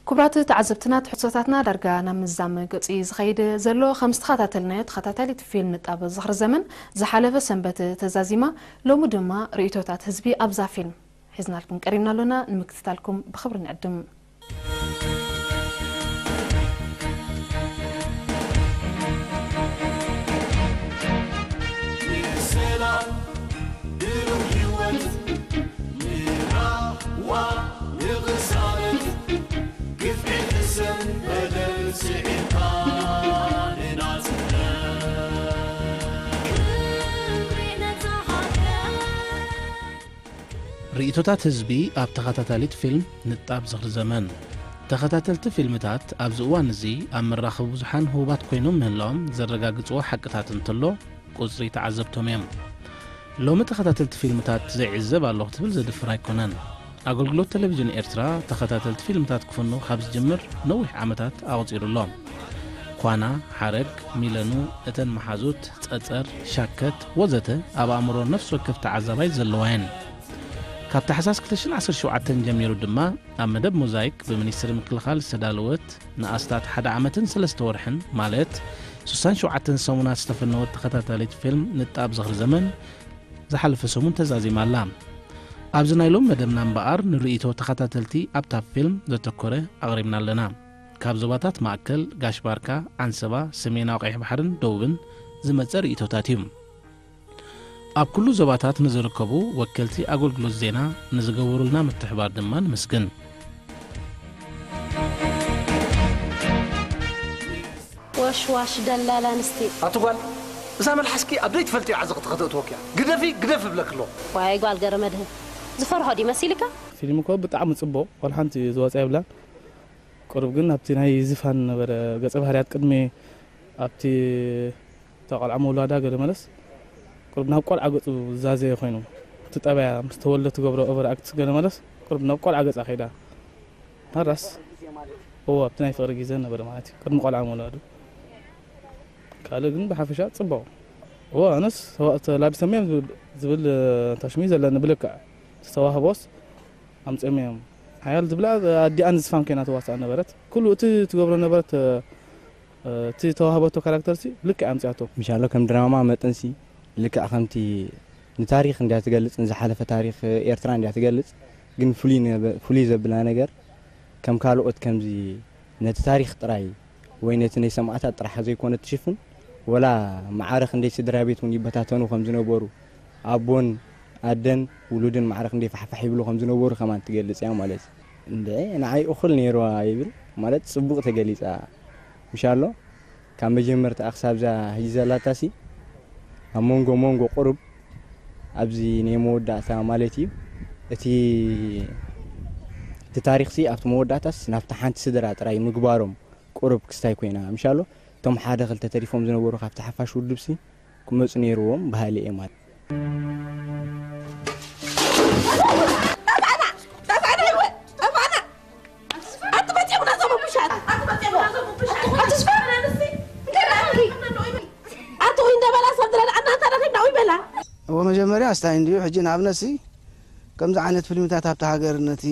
ክቡራት ተዓዘብትና፣ ትሕዝቶታትና ዳርጋ ናብ ምዛም ገጹ እዩ ዝኸይድ ዘሎ። ከም ዝተኸታተልናዮ፣ ተኸታታሊት ፊልም ንጣብ ዝኽሪ ዘመን ዝሓለፈ ሰንበት ተዛዚማ፣ ሎሚ ድማ ርእይቶታት ህዝቢ ኣብዛ ፊልም ሒዝናልኩም ቀሪብና ኣሎና። ንምክትታልኩም ብኽብሪ ንዕድም። ርእይቶታት ህዝቢ ኣብ ተኸታታሊት ፊልም ንጣብ ዝኽሪ ዘመን። ተኸታተልቲ ፊልምታት ኣብዚ እዋን እዚ ኣብ መራኸቢ ብዙሓን ህቡባት ኮይኖም ምህላዎም ዘረጋግጽዎ ሓቅታት እንተሎ፣ ቁጽሪ ተዓዘብቶም እዮም። ሎሚ ተኸታተልቲ ፊልምታት ዘይዕዘብ ኣለኹ ትብል ዘድፍር ኣይኮነን። ኣገልግሎት ቴሌቪዥን ኤርትራ ተኸታተልቲ ፊልምታት ክፍኑ ካብ ዝጅምር ነዊሕ ዓመታት ኣቑጺሩ ኣሎ። ኳና፣ ሓረግ፣ ሚለኑ፣ እተን መሓዙት፣ ጸጸር፣ ሻከት፣ ወዘተ ኣብ ኣእምሮ ነፍሲ ወከፍ ተዓዛባይ ዘለዋ እየን። ካብ ታሕሳስ ክልተ ሽሕን ዓሰርተ ሸውዓተን ጀሚሩ ድማ ኣብ መደብ ሞዛይክ ብሚኒስትሪ ምክልኻል ዝተዳለወት ንኣስታት ሓደ ዓመትን ሰለስተ ወርሕን፣ ማለት ስሳን ሸውዓተን ሰሙናት ዝተፈነወት ተኸታታሊት ፊልም ንጣብ ዝኽሪ ዘመን ዝሓለፈ ሰሙን ተዛዚማ ኣላ። ኣብዚ ናይ ሎም መደብና እምበኣር ንርእይቶ ተኸታተልቲ ኣብታ ፊልም ዘተኮረ ኣቕሪብና ኣለና። ካብ ዞባታት ማእከል፣ ጋሽ ባርካ፣ ዓንሰባ፣ ሰሜናዊ ቀይሕ ባሕርን ደቡብን ዝመጸ ርእይቶታት እዩ። ኣብ ኩሉ ዞባታት ንዝርከቡ ወከልቲ ኣገልግሎት ዜና ንዝገበሩልና ምትሕባር ድማ ንምስግን። ወሽዋሽ ደላላ ኣንስቲ። ኣቲ ጓል፣ እዛ መልሓስኪ ኣብ ዘይትፈልጥዮ ዓዘቕቲ ከተእትወኪ እያ። ግደፊ፣ ግደፊ እብለኪ ኣለኹ። ዋይ ጓል ገረመድህን፣ ዝፈርሆ ድዩ መሲልካ? ፊልም እኮ ብጣዕሚ ጽቡቕ፣ ዋላ ሓንቲ ዝወጻ የብላን። ቁሩብ ግን ኣብቲ ናይ ዝፋን ነበረ ገጸ ባህርያት ቅድሚ ኣብቲ እታ ቆልዓ ምውላዳ ገለ መለስ ቁሩብ ናብ ቆልዓ ገጹ ዝዛዘየ ኮይኑ፣ እቲ ጠባያ ምስ ተወልደ ትገብሮ ኦቨር ኣክት ገለ መለስ ቁሩብ ናብ ቆልዓ ገጻ ከይዳ። ሓራስ እዎ ኣብቲ ናይ ፍቕሪ ግዜ ነበረ ማለት እዩ፣ ቅድሚ ቆልዓ ምውላዱ። ካልእ ግን ብሓፈሻ ጽቡቕ። እዎ ኣነስ ተላቢሶም እዮም ዝብል ታሽሚ ዘለኒ ብልክዕ ዝተዋህቦስ ኣምጺኦም እዮም። ሓያል ዝብላ ኣዲኣ ንዝፋን ኮይና ትዋሳእ ነበረት። ኩሉ እቲ ትገብሮ ነበረት እቲ ተዋህበቶ ካራክተር ሲ ልክዕ ኣምጺኣቶ። ምሻሎ ከም ድራማ መጠን ሲ ልክዕ ከምቲ ንታሪኽ እንድያ ትገልጽ፣ ንዝሓለፈ ታሪኽ ኤርትራ እንድያ ትገልጽ፣ ግን ፍሉይ ዘብላ ነገር ከም ካልኦት ከምዚ ነቲ ታሪኽ ጥራይ ወይ ነቲ ናይ ሰማእታት ጥራሕ ዘይኮነ ትሽፍን፣ ወላ ማዕረ ክንደይ ስድራ ቤት እውን ይበታተኑ ከም ዝነበሩ፣ ኣቦን ኣደን ውሉድን ማዕረ ክንደይ ፋሕፋሕ ይብሉ ከም ዝነበሩ ከማን ትገልጽ እያ ማለት እዩ። እንድዒ ንዓይ እኹል ነይርዋ ይብል ማለት ጽቡቕ ተገሊጻ ምሻሎ ካብ መጀመርታኣ ክሳብ እዛ ሕጂ ዘላታሲ ኣብ መንጎ መንጎ ቁሩብ ኣብዚ ናይ መወዳእታ ማለት እዩ እቲ እቲ ታሪኽሲ ኣብቲ መወዳእታስ ናብታ ሓንቲ ስድራ ጥራይ ምግባሮም ቁሩብ ክስታይ ኮይና ምሻሎ እቶም ሓደ ክልተ ተሪፎም ዝነበሩ ካብቲ ሓፋሽ ውድብሲ ክመፁ ነይርዎም በሃሊ እየ ማለት ኣቲ ወይ እንደበላ ሰብ ዝረድኣና እንተረኺብና ወይ በላ። እወ መጀመርያ ስታይ እንድዩ ሕጂ ንኣብነትሲ ከምዚ ዓይነት ፊልምታት ኣብቲ ሃገር ነቲ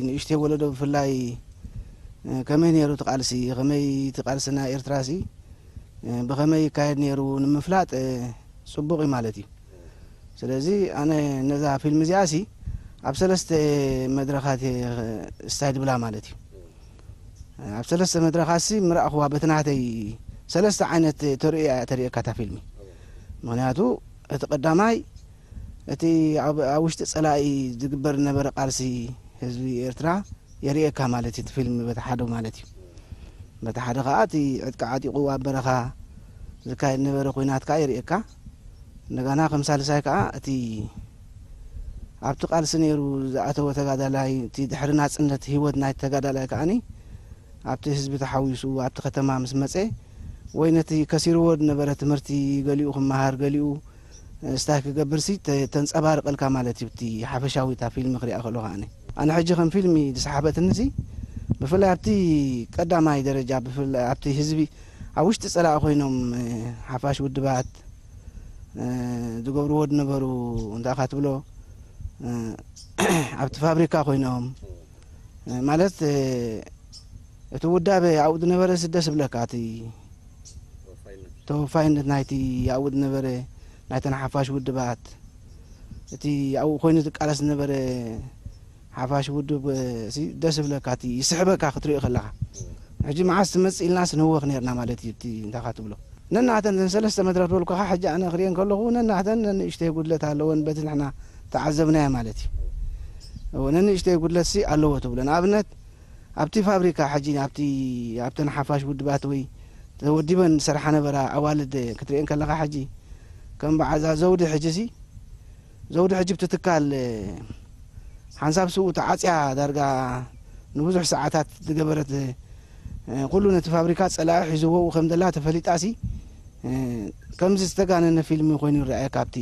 ንእሽተይ ወለዶ ብፍላይ ከመይ ነይሩ እቲ ቃልሲ ከመይ እቲ ቃልሲ ናይ ኤርትራሲ ብኸመይ ይካየድ ነይሩ ንምፍላጥ ጽቡቕ እዩ ማለት እዩ። ስለዚ ኣነ ነዛ ፊልም እዚኣሲ ኣብ ሰለስተ መድረኻት እየ ስታይ ድብላ ማለት እዩ። ኣብ ሰለስተ መድረኻትሲ ምረእኽዋ በቲ ናተይ ሰለስተ ዓይነት ተርእዮ እያ ተርእየካ እታ ፊልሚ። ምኽንያቱ እቲ ቀዳማይ እቲ ኣብ ኣብ ውሽጢ ጸላኢ ዝግበር ዝነበረ ቃልሲ ህዝቢ ኤርትራ የርእየካ ማለት እዩ እቲ ፊልም በቲ ሓደ ማለት እዩ። በቲ ሓደ ከኣ እቲ ዕጥቂ ዓጢቑ ኣብ በረኻ ዝካየድ ዝነበረ ኲናት ከኣ የርእየካ። እንደገና ከም ሳልሳይ ከኣ እቲ ኣብቲ ቃልሲ ነይሩ ዝኣተወ ተጋዳላይ እቲ ድሕሪ ናጽነት ህይወት ናይቲ ተጋዳላይ ከኣኒ ኣብቲ ህዝቢ ተሓዊሱ ኣብቲ ከተማ ምስ መጸ ወይ ነቲ ከሲርዎ ዝነበረ ትምህርቲ ገሊኡ ክመሃር ገሊኡ ስታይ ክገብርሲ ተንጸባርቀልካ ማለት እዩ እቲ ሓፈሻዊ እታ ፊልሚ ክሪኣ ከሎ ከኣኒ ኣነ ሕጂ ከም ፊልሚ ዝሰሓበትንሲ ብፍላይ ኣብቲ ቀዳማይ ደረጃ ብፍላይ ኣብቲ ህዝቢ ኣብ ውሽጢ ጸላኢ ኮይኖም ሓፋሽ ውድባት ዝገብርዎ ዝነበሩ እንታይ ኢኻ ትብሎ ኣብቲ ፋብሪካ ኮይኖም ማለት እቲ ውዳበ ኣብኡ ዝነበረ ደስ ዝብለካ፣ እቲ ተወፋይነት ናይቲ ኣብኡ ዝነበረ ናይተን ሓፋሽ ውድባት፣ እቲ ኣብኡ ኮይኑ ዝቃለስ ዝነበረ ሓፋሽ ውድብ፣ እ፣ ሲ ደስ ዝብለካ፣ እቲ ይስሕበካ ክትሪኦ ከለኻ። ሕጂ መዓስ ትመጽእ ኢልናስ ንህወኽ ነርና ማለት እዩ። እቲ እንታይ ትብሎ፣ ነናተን እዘን ሰለስተ መድረኽ ዝበልኩኻ፣ ሕጂ ኣነ ክሪኤን ከለኹ፣ ነናተን ነንእሽተይ ጉድለት ኣለወን፣ በቲ ንሕና ተዓዘብናዮ ማለት እዩ። እወ፣ ነንእሽተይ ጉድለትሲ ኣለዎ ትብሎ። ንኣብነት ኣብቲ ፋብሪካ ሕጂ ኣብቲ፣ ኣብተን ሓፋሽ ውድባት ወይ ተወዲበን ዝሰርሓ ነበራ ኣዋልድ ክትሪኤን ከለኻ፣ ሕጂ ከም በዓዛ ዘውዲ፣ ሕጂ ሲ ዘውዲ ሕጂ ብቲ ትካል ሓንሳብ ስኡ ተዓጽያ፣ ዳርጋ ንብዙሕ ሰዓታት ዝገበረት፣ ኩሉ ነቲ ፋብሪካ ጸላኢ ሒዝዎ ከም ዘላ ተፈሊጣ ሲ ከምዚ ዝተጋነነ ፊልም ኮይኑ ይረኣየካ። ኣብቲ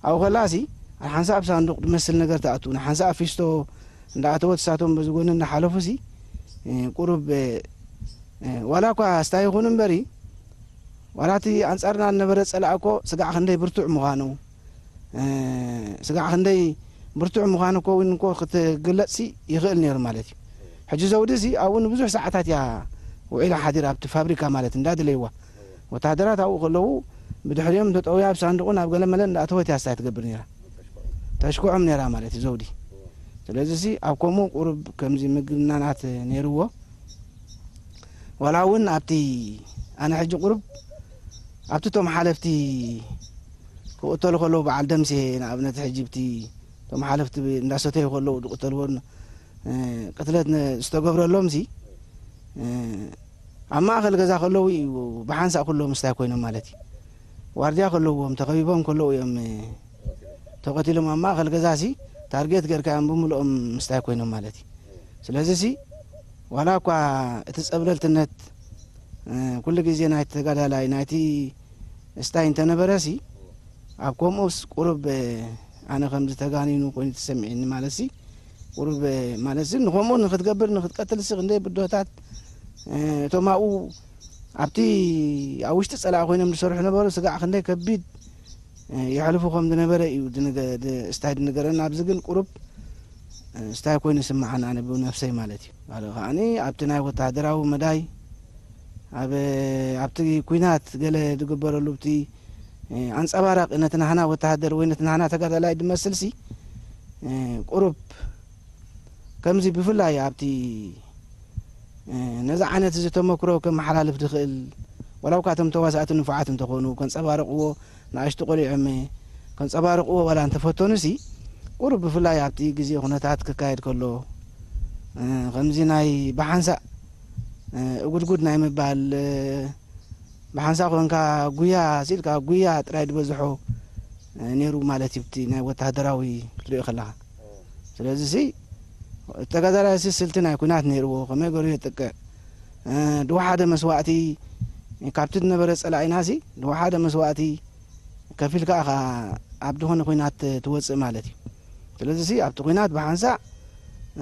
ኣብኡ ከላ ሲ ሓንሳብ ሳንዱቕ ዝመስል ነገር ትኣቱ፣ ንሓንሳብ ፊስቶ እንዳኣተወት እሳቶም በዚ ጎኒ እናሓለፉ ሲ፣ እ፣ ቁሩብ፣ እ፣ እ፣ ዋላ እኳ ስታይ ይኹን እምበሪ፣ ዋላ እቲ ኣንጻርና ዝነበረ ጸላኢ እኮ ስጋዕ ክንደይ ብርቱዕ ምዃኑ፣ እ፣ ስጋዕ ክንደይ ብርቱዕ ምዃኑ እኮ እውን እኮ ክትግለጽ ሲ ይኽእል ነይሩ ማለት እዩ። ሕጂ ዘውዲ ሲ ኣብኡ ንብዙሕ ሰዓታት እያ ውዒላ ሓዲራ ኣብቲ ፋብሪካ ማለት እንዳድለይዋ። ወተሃደራት ኣብኡ ከለዉ ብድሕሪኦም ተጠውያ ኣብ ሳንዱቑ ናብ ገለ መለ እንዳኣተወት እያ ስታይ ትገብር ነይራ። ተሽክዖም ነይራ ማለት እዩ ዘውዲ። ስለዚ ሲ ኣብ ከምኡ ቁሩብ ከምዚ ምግናናት ነይርዎ። ዋላ እውን ኣብቲ ኣነ ሕጂ ቁሩብ ኣብቲ እቶም ሓለፍቲ ክቕተሉ ከለዉ በዓል ደምሴ ንኣብነት ሕጂ ብቲ እቶም ሓለፍቲ እንዳሰተዩ ከለዉ ዝቕተልዎን፣ እ፣ ቅትለት ነ-፣ ዝተገብረሎም ሲ፣ እ፣ ኣብ ማእከል ገዛ ከለዉ እዩ ብሓንሳእ ኩሎም ምስታይ ኮይኖም ማለት እዩ። ዋርድያ ከለዎም ተኸቢቦም ከለዉ እዮም፣ እ፣ ተቐቲሎም ኣብ ማእከል ገዛ ሲ ታርጌት ጌርካዮም ብምልኦም ምስታይ ኮይኖም ማለት እዩ። ስለዚ ሲ ዋላ እኳ እቲ ጸብለልትነት፣ እ፣ ኩሉ ግዜ ናይቲ ተጋዳላይ ናይቲ እስታይ እንተነበረ ሲ ኣብ ከምኡስ ቁሩብ፣ እ፣ ኣነ ከምዚ ተጋኒኑ ኮይኑ ተሰሚዕኒ ማለት ሲ ቁሩብ፣ እ፣ ማለት ሲ ንኸምኡ ንኽትገብር ንኽትቀትል ሲ ክንደይ ብድሆታት፣ እ፣ እቶም ኣብኡ ኣብቲ ኣብ ውሽጢ ጸላኢ ኮይኖም ዝሰርሑ ነበሩ ስጋዕ ክንደይ ከቢድ፣ እ፣ የሕልፉ ከም ዝነበረ እዩ ዝንገ-፣ ድ-፣ እስታይ ዝንገረና። ኣብዚ ግን ቁሩብ፣ እ፣ እስታይ ኮይኑ ይስምዓኒ ኣነ ብነፍሰይ ማለት እዩ። ካልእ ከኣኒ ኣብቲ ናይ ወተሃደራዊ መዳይ ኣብ፣ ኣብቲ ኲናት ገለ ዝግበረሉ ብቲ፣ እ፣ ኣንጸባራቂ ነቲ ናህና ወተሃደር ወይ ነቲ ናህና ተጋዳላይ ዝመስል ሲ፣ እ፣ ቁሩብ ከምዚ ብፍላይ ኣብቲ፣ እ፣ ነዚ ዓይነት እዚ ተመክሮ ከመሓላልፍ ዝኽእል፣ ዋላ እኳ እቶም ተዋሳእቲ ንፉዓት እንተኾኑ፣ ከንጸባርቕዎ፣ ንኣሽቱ ቆሊዖም ከንጸባርቕዎ ዋላ እንተፈተኑ ሲ፣ ቁሩብ ብፍላይ ኣብቲ ግዜ ኩነታት ክካየድ ከሎ፣ እ፣ ከምዚ ናይ ብሓንሳእ፣ እ፣ እጉድጉድ ናይ ምባል፣ እ፣ ብሓንሳእ ኮንካ ጉያ ሲልካ ጉያ ጥራይ ዝበዝሖ፣ እ፣ ነይሩ ማለት እዩ፣ እቲ ናይ ወተሃደራዊ ክትሪኦ ከለኻ። ስለዚ ሲ፣ ተጋዳላይ ሲ ስልቲ ናይ ኲናት ነይርዎ፣ ከመይ ገይሩ የጥቅዕ፣ እ፣ ድወሓደ መስዋእቲ፣ ካብቲ ዝነበረ ጸላኢና ሲ፣ ድወሓደ መስዋእቲ ከፊልካ ኢኻ ኣብ ዝኾነ ኲናት ትወጽእ ማለት እዩ። ስለዚ ሲ፣ ኣብቲ ኲናት ብሓንሳእ፣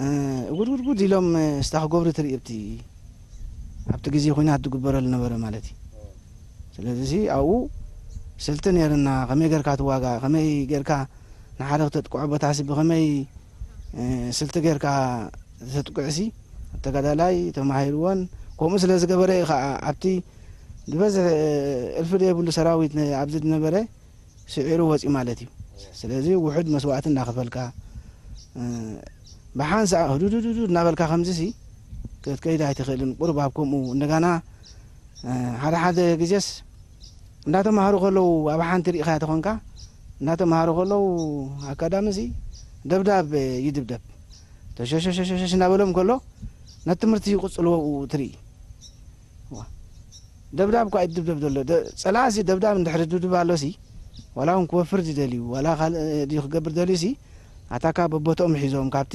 እ፣ እጉድጉድጉድ ኢሎም፣ እ፣ ስታ ክገብሩ ትርኢ ኣብቲ፣ ኣብቲ ግዜ ኲናት ዝግበረሉ ነበረ ማለት እዩ። ስለዚ ሲ፣ ኣብኡ ስልቲ ነይርና፣ ከመይ ጌርካ ትዋጋእ፣ ከመይ ጌርካ ንሓደ ክተጥቅዖ ቦታ ሲ ብኸመይ፣ እ፣ ስልቲ ጌርካ ተጥቅዕ ሲ፣ ተጋዳላይ ተማሂርዎን፣ ከምኡ ስለ ዝገበረ እዩ ኸዓ ኣብቲ ዝበዝሕ፣ እ፣ እልፊ ዘይብሉ ሰራዊት ን-፣ ኣብዚ ዝነበረ ስዒሩ ወጺኡ ማለት እዩ። ስለዚ ውሑድ መስዋእቲ እንዳኸፈልካ፣ እ፣ ብሓንሳእ ህዱዱዱዱ እናበልካ ከምዚ ሲ ክትከይድ ኣይትኽእልን። ቁሩብ ኣብ ከምኡ እንደገና፣ እ፣ ሓደ ሓደ ግዜስ እንዳተማሃሩ ከለዉ ኣብ ሓንቲ ርኢኻያ ተኾንካ፣ እንዳተማሃሩ ከለዉ ኣካዳሚ ሲ ደብዳብ ይድብደብ። ተሸሸሸሸሽ እናበሎም ከሎ ነቲ ትምህርቲ ይቕጽልዎ ትርኢ። ዋ። ደብዳብ እኳ እዩ ዝድብደብ ዘሎ። ደ-፣ ጸላእሲ ደብዳብ እንድሕሪ ድብድብ ኣሎሲ፣ ዋላ እውን ክወፍር ዝደልዩ፣ ዋላ ካልእ ድዩ ክገብር ደልዩሲ፣ ኣታካ በቦትኦም ሒዞም፣ ካብቲ፣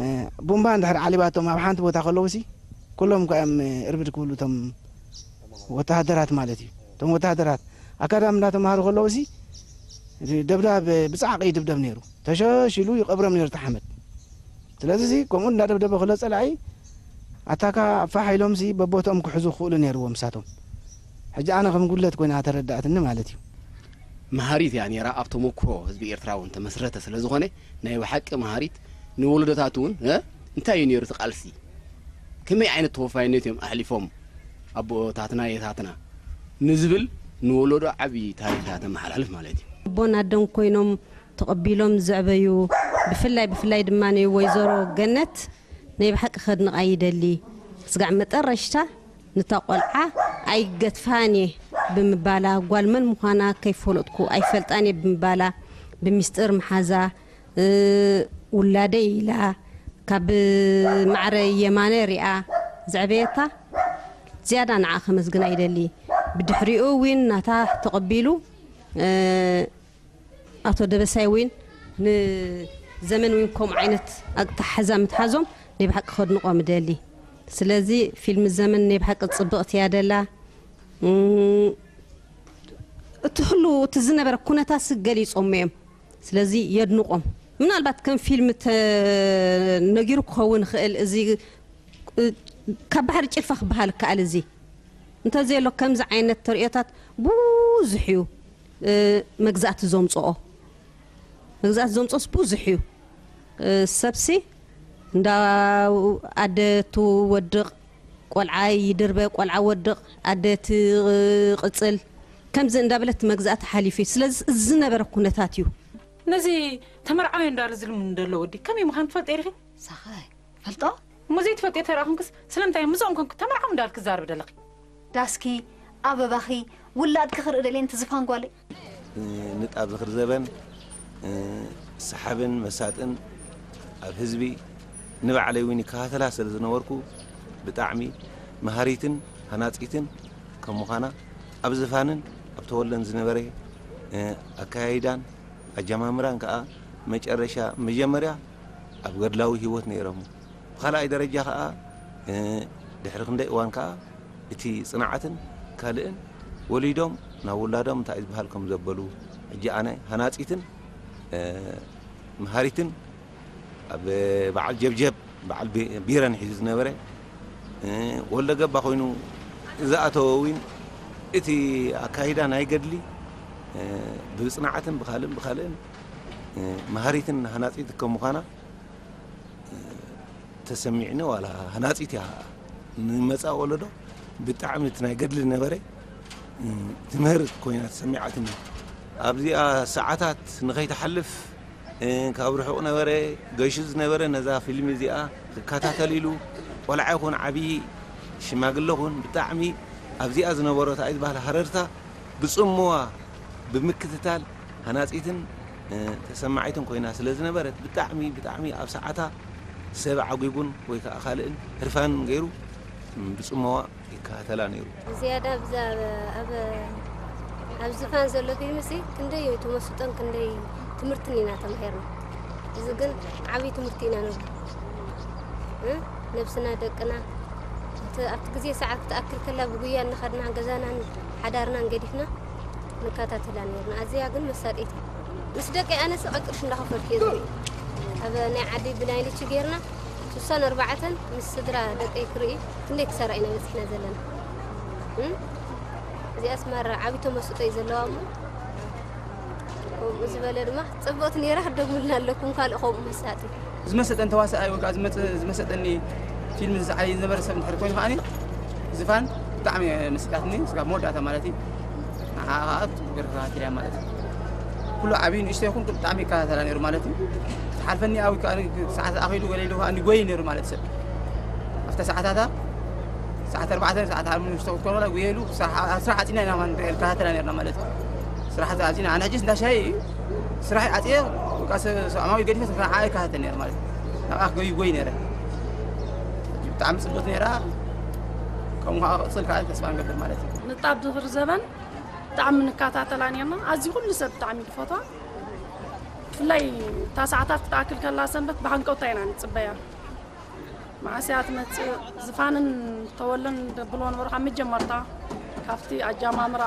እ፣ ቡምባ እንድሕር ዓሊባቶም ኣብ ሓንቲ ቦታ ከለዉሲ፣ ኩሎም እኳ እዮም፣ እ፣ እርብድ ክብሉ እቶም ወተሃደራት ማለት እዩ። እቶም ወተሃደራት ኣካዳሚ እንዳተማሃሩ ከለዉሲ፣ ደብዳብ ብጻዕቂ ይድብደብ ነይሩ። ተሸሽ ኢሉ ይቐብሮም ነይሩ እቲ ሓመድ። ስለዚ እዚ ከምኡ እንዳደብደበ ከሎ ጸላኢ ኣታካ ፋሕ ኢሎምሲ በቦትኦም ክሕዙ ክኽእሉ ነይርዎም ንሳቶም። ሕጂ ኣነ ከም ጉድለት ኮይና ተረዳእትኒ ማለት እዩ። መሃሪት እያ ነይራ፣ ኣብ ተመክሮ ህዝቢ ኤርትራ እውን ተመስረተ ስለ ዝኾነ፣ ናይ ብሓቂ መሃሪት፣ ንወለዶታት እውን፣ እ፣ እንታይ እዩ ነይሩ እቲ ቃልሲ? ከመይ ዓይነት ተወፋይነት እዮም ኣሕሊፎም ኣቦታትና የታትና ንዝብል ንወለዶ ዓብዪ ታሪኽ እያ ተመሓላልፍ ማለት እዩ። ኣቦን ኣደን ኮይኖም ተቐቢሎም ዘዕበዩ፣ ብፍላይ ብፍላይ ድማ ወይዘሮ ገነት ናይ ብሓቂ ከድንቓ ይደሊ። ስጋዕ መጠረሽታ ንታ ቆልዓ ኣይገትፋን እየ ብምባላ፣ ጓል መን ምዃና ከይፈለጥኩ ኣይፈልጣን እየ ብምባላ፣ ብሚስጥር ምሓዛ፣ ውላደይ ኢላ ካብ ማዕረ የማነ ሪኣ ዘዕበየታ ዝያዳ ንዓ ከመስግና ይደሊ። ብድሕሪኡ እውን ናታ ተቐቢሉ ኣቶ ደበሳይ እውን ንዘመን እውን ከምኡ ዓይነት ኣተሓሕዛ ምትሓዞም ናይ ብሓቂ ከድንቖም እደሊ። ስለዚ ፊልም ዘመን ናይ ብሓቂ ፅብቕቲ እያ ደላ። እቲ ህሉ እቲ ዝነበረ ኩነታት ገሊፆም እዮም። ስለዚ የድንቖም። ምናልባት ከም ፊልም ተነጊሩ ክኸውን ይኽእል። እዚ ካብ ባሕሪ ጭልፋ ክበሃል ይከኣል። እዚ እንተዘየሎ ከምዚ ዓይነት ተርእዮታት ብዙሕ እዩ መግዛእቲ ዘምፅኦ። መግዛእቲ ዘምፅኦስ ብዙሕ እዩ። ሰብሲ እንዳ ኣደ ትወድቕ፣ ቆልዓ ይድርበ፣ ቆልዓ ወድቕ፣ ኣደ ትቕፅል፣ ከምዚ እንዳበለት መግዛእቲ ሓሊፉ እዩ። ስለዚ እዚ ዝነበረ ኩነታት እዩ። ነዚ ተመርዓዊ እንዳሉ ዝልምኑ ዘሎ ወዲ ከመይ ምዃኑ ትፈልጢ ኢኺ? ሳኸ ፈልጦ እሞ ዘይትፈልጢ ተራኹምክስ ስለምንታይ ምስኦም ኮንኩ ተመርዓዊ እንዳልክ ትዛረብ ደለኺ? ዳስኪ ኣበባኺ ውላድኪ ክርኢ ደልየ ንቲ ዝፋን ጓለይ። ንጣብ ዝኽሪ ዘበን ሰሓብን መሳጥን ኣብ ህዝቢ ንባዕለይ እውን ይከታተላ ስለ ዝነበርኩ ብጣዕሚ መሃሪትን ሃናፂትን ከም ምዃና ኣብ ዝፋንን ኣብ ተወለን ዝነበረ ኣከያይዳን ኣጀማምራን ከዓ መጨረሻ መጀመርያ ኣብ ገድላዊ ህይወት ነይሮም። ብኻልኣይ ደረጃ ከዓ ድሕሪ ክንደይ እዋን ከዓ እቲ ፅንዓትን ካልእን ወሊዶም ናብ ውላዶም እንታይ ዝበሃል ከም ዘበሉ ሕጂ ኣነ ሃናፂትን መሃሪትን ኣብ በዓል ጀብጀብ በዓል ቢረን ሒዙ ዝነበረ ወልደ ገባ ኮይኑ ዝኣተወ እውን እቲ ኣካይዳ ናይ ገድሊ ብፅንዓትን ብካልእን ብካልእን መሃሪትን ሃናፂት ከም ምዃና ተሰሚዕኒ ዋላ ሃናፂት እያ ንመፃእ ወለዶ ብጣዕሚ እቲ ናይ ገድሊ ነበረ ትምህር ኮይና ተሰሚዓትኒ ኣብዚኣ ሰዓታት ንኸይትሓልፍ ካብ ርሑቕ ነበረ ገሹ ዝነበረ ነዛ ፊልሚ እዚኣ ክከታተል ኢሉ ቆልዓ ይኹን ዓብዪ ሽማግለ ኹን ብጣዕሚ ኣብዚኣ ዝነበሮ እንታይ ዝበሃል ሃረርታ ብፅምዋ ብምክትታል ሃናፂትን ተሰማዒትን ኮይና ስለ ዝነበረት ብጣዕሚ ብጣዕሚ ኣብ ሰዓታ ሰብ ዓጒጉን ወይ ከዓ ካልእን ህርፋንን ገይሩ ብፅምዋ ይከታተላ ነይሩ። ዝያዳ ኣብዛ ኣብ ኣብ ዝፋን ዘሎ ፊልምሲ ክንደይ ተመስጦን ክንደይ ትምህርትን ኢና ተማሂርና። እዚ ግን ዓብዪ ትምህርቲ ኢና ንብሎ። ነብስና ደቅና ኣብቲ ግዜ ሰዓት ክትኣክል ከላ ብጉያ እናኸድና ገዛናን ሓዳርናን ገዲፍና ንከታተላ ነርና። ኣዝያ ግን መሳጢት ምስ ደቀይ ኣነስ ዕቅርሽ እንዳኸፈልኩ እየ ዝርኢ። ኣብ ናይ ዓዲ ብናይልቺ ጌርና ስሳን ኣርባዕተን ምስ ስድራ ደቀይ ክርኢ ክንደይ ክሰራ ኢና በፂሕና ዘለና። እዚኣስ ማራ ዓብዪ ተመስጦ እዩ ዘለዋ እሞ ከምኡ ዝበለ ድማ ፅብቕቲ ነይራ ክትደግሙልና ኣለኩም ካልእ ከምኡ መሳጢ። ዝመሰጠን ተዋሳኣይ ወይ ከዓ ዝመፀ- ዝመሰጠኒ ፊልም ዝሰዓይ ዝነበረ ሰብ እንድሕር ኮይኑ ከዓኒ ዝፋን ብጣዕሚ መሲጣትኒ ስጋብ መወዳእታ ማለት እዩ ንዓ ከዓ ብፅቡቅ ገይርካ ተከታቲልያ ማለት እዩ ኩሉ ዓብዩ ንእሽቶ ይኹን ብጣዕሚ ይከታተላ ነይሩ ማለት እዩ ትሓልፈኒ ኣብ ሰዓት ኣኺሉ ገለ ኢሉ ከዓ እንዲጎይ ነይሩ ማለት ሰብ ኣብታ ሰዓታታ ሰዓት ኣርባዕተ ሰዓት ሓሙሽተ ክትኮን ወላ ጉየሉ ስራሕ ዓፂና ኢና ንከታተላ ነርና ማለት እዩ ስራሕ ዓፂና ኣነ ሕጂስ እንዳሻይ እዩ ስራሕ ዓፅየ ሰላማዊ ገዲፈ ንዓኣ ይከታተል ነይረ ማለት እዩ ናብኣ ክጎይ ይጎይ ነይረ ብጣዕሚ ፅብቅቲ ነይራ ከምኡ ከዓ ክቅፅል ከዓ ተስፋ ንገብር ማለት እዩ ንጣብ ድኽሪ ዘበን ብጣዕሚ ንከታተላ ነርና ኣዝዩ ኩሉ ሰብ ብጣዕሚ ድፈትዋ ብፍላይ እታ ሰዓታት ክትኣክል ከላ ሰንበት ብሃንቀውታ ኢና ንፅበያ መዓስ እያ ትመፅእ ዝፋንን ተወለን ደብልዎ ነበሩ ካብ መጀመርታ ካብቲ ኣጃማምራ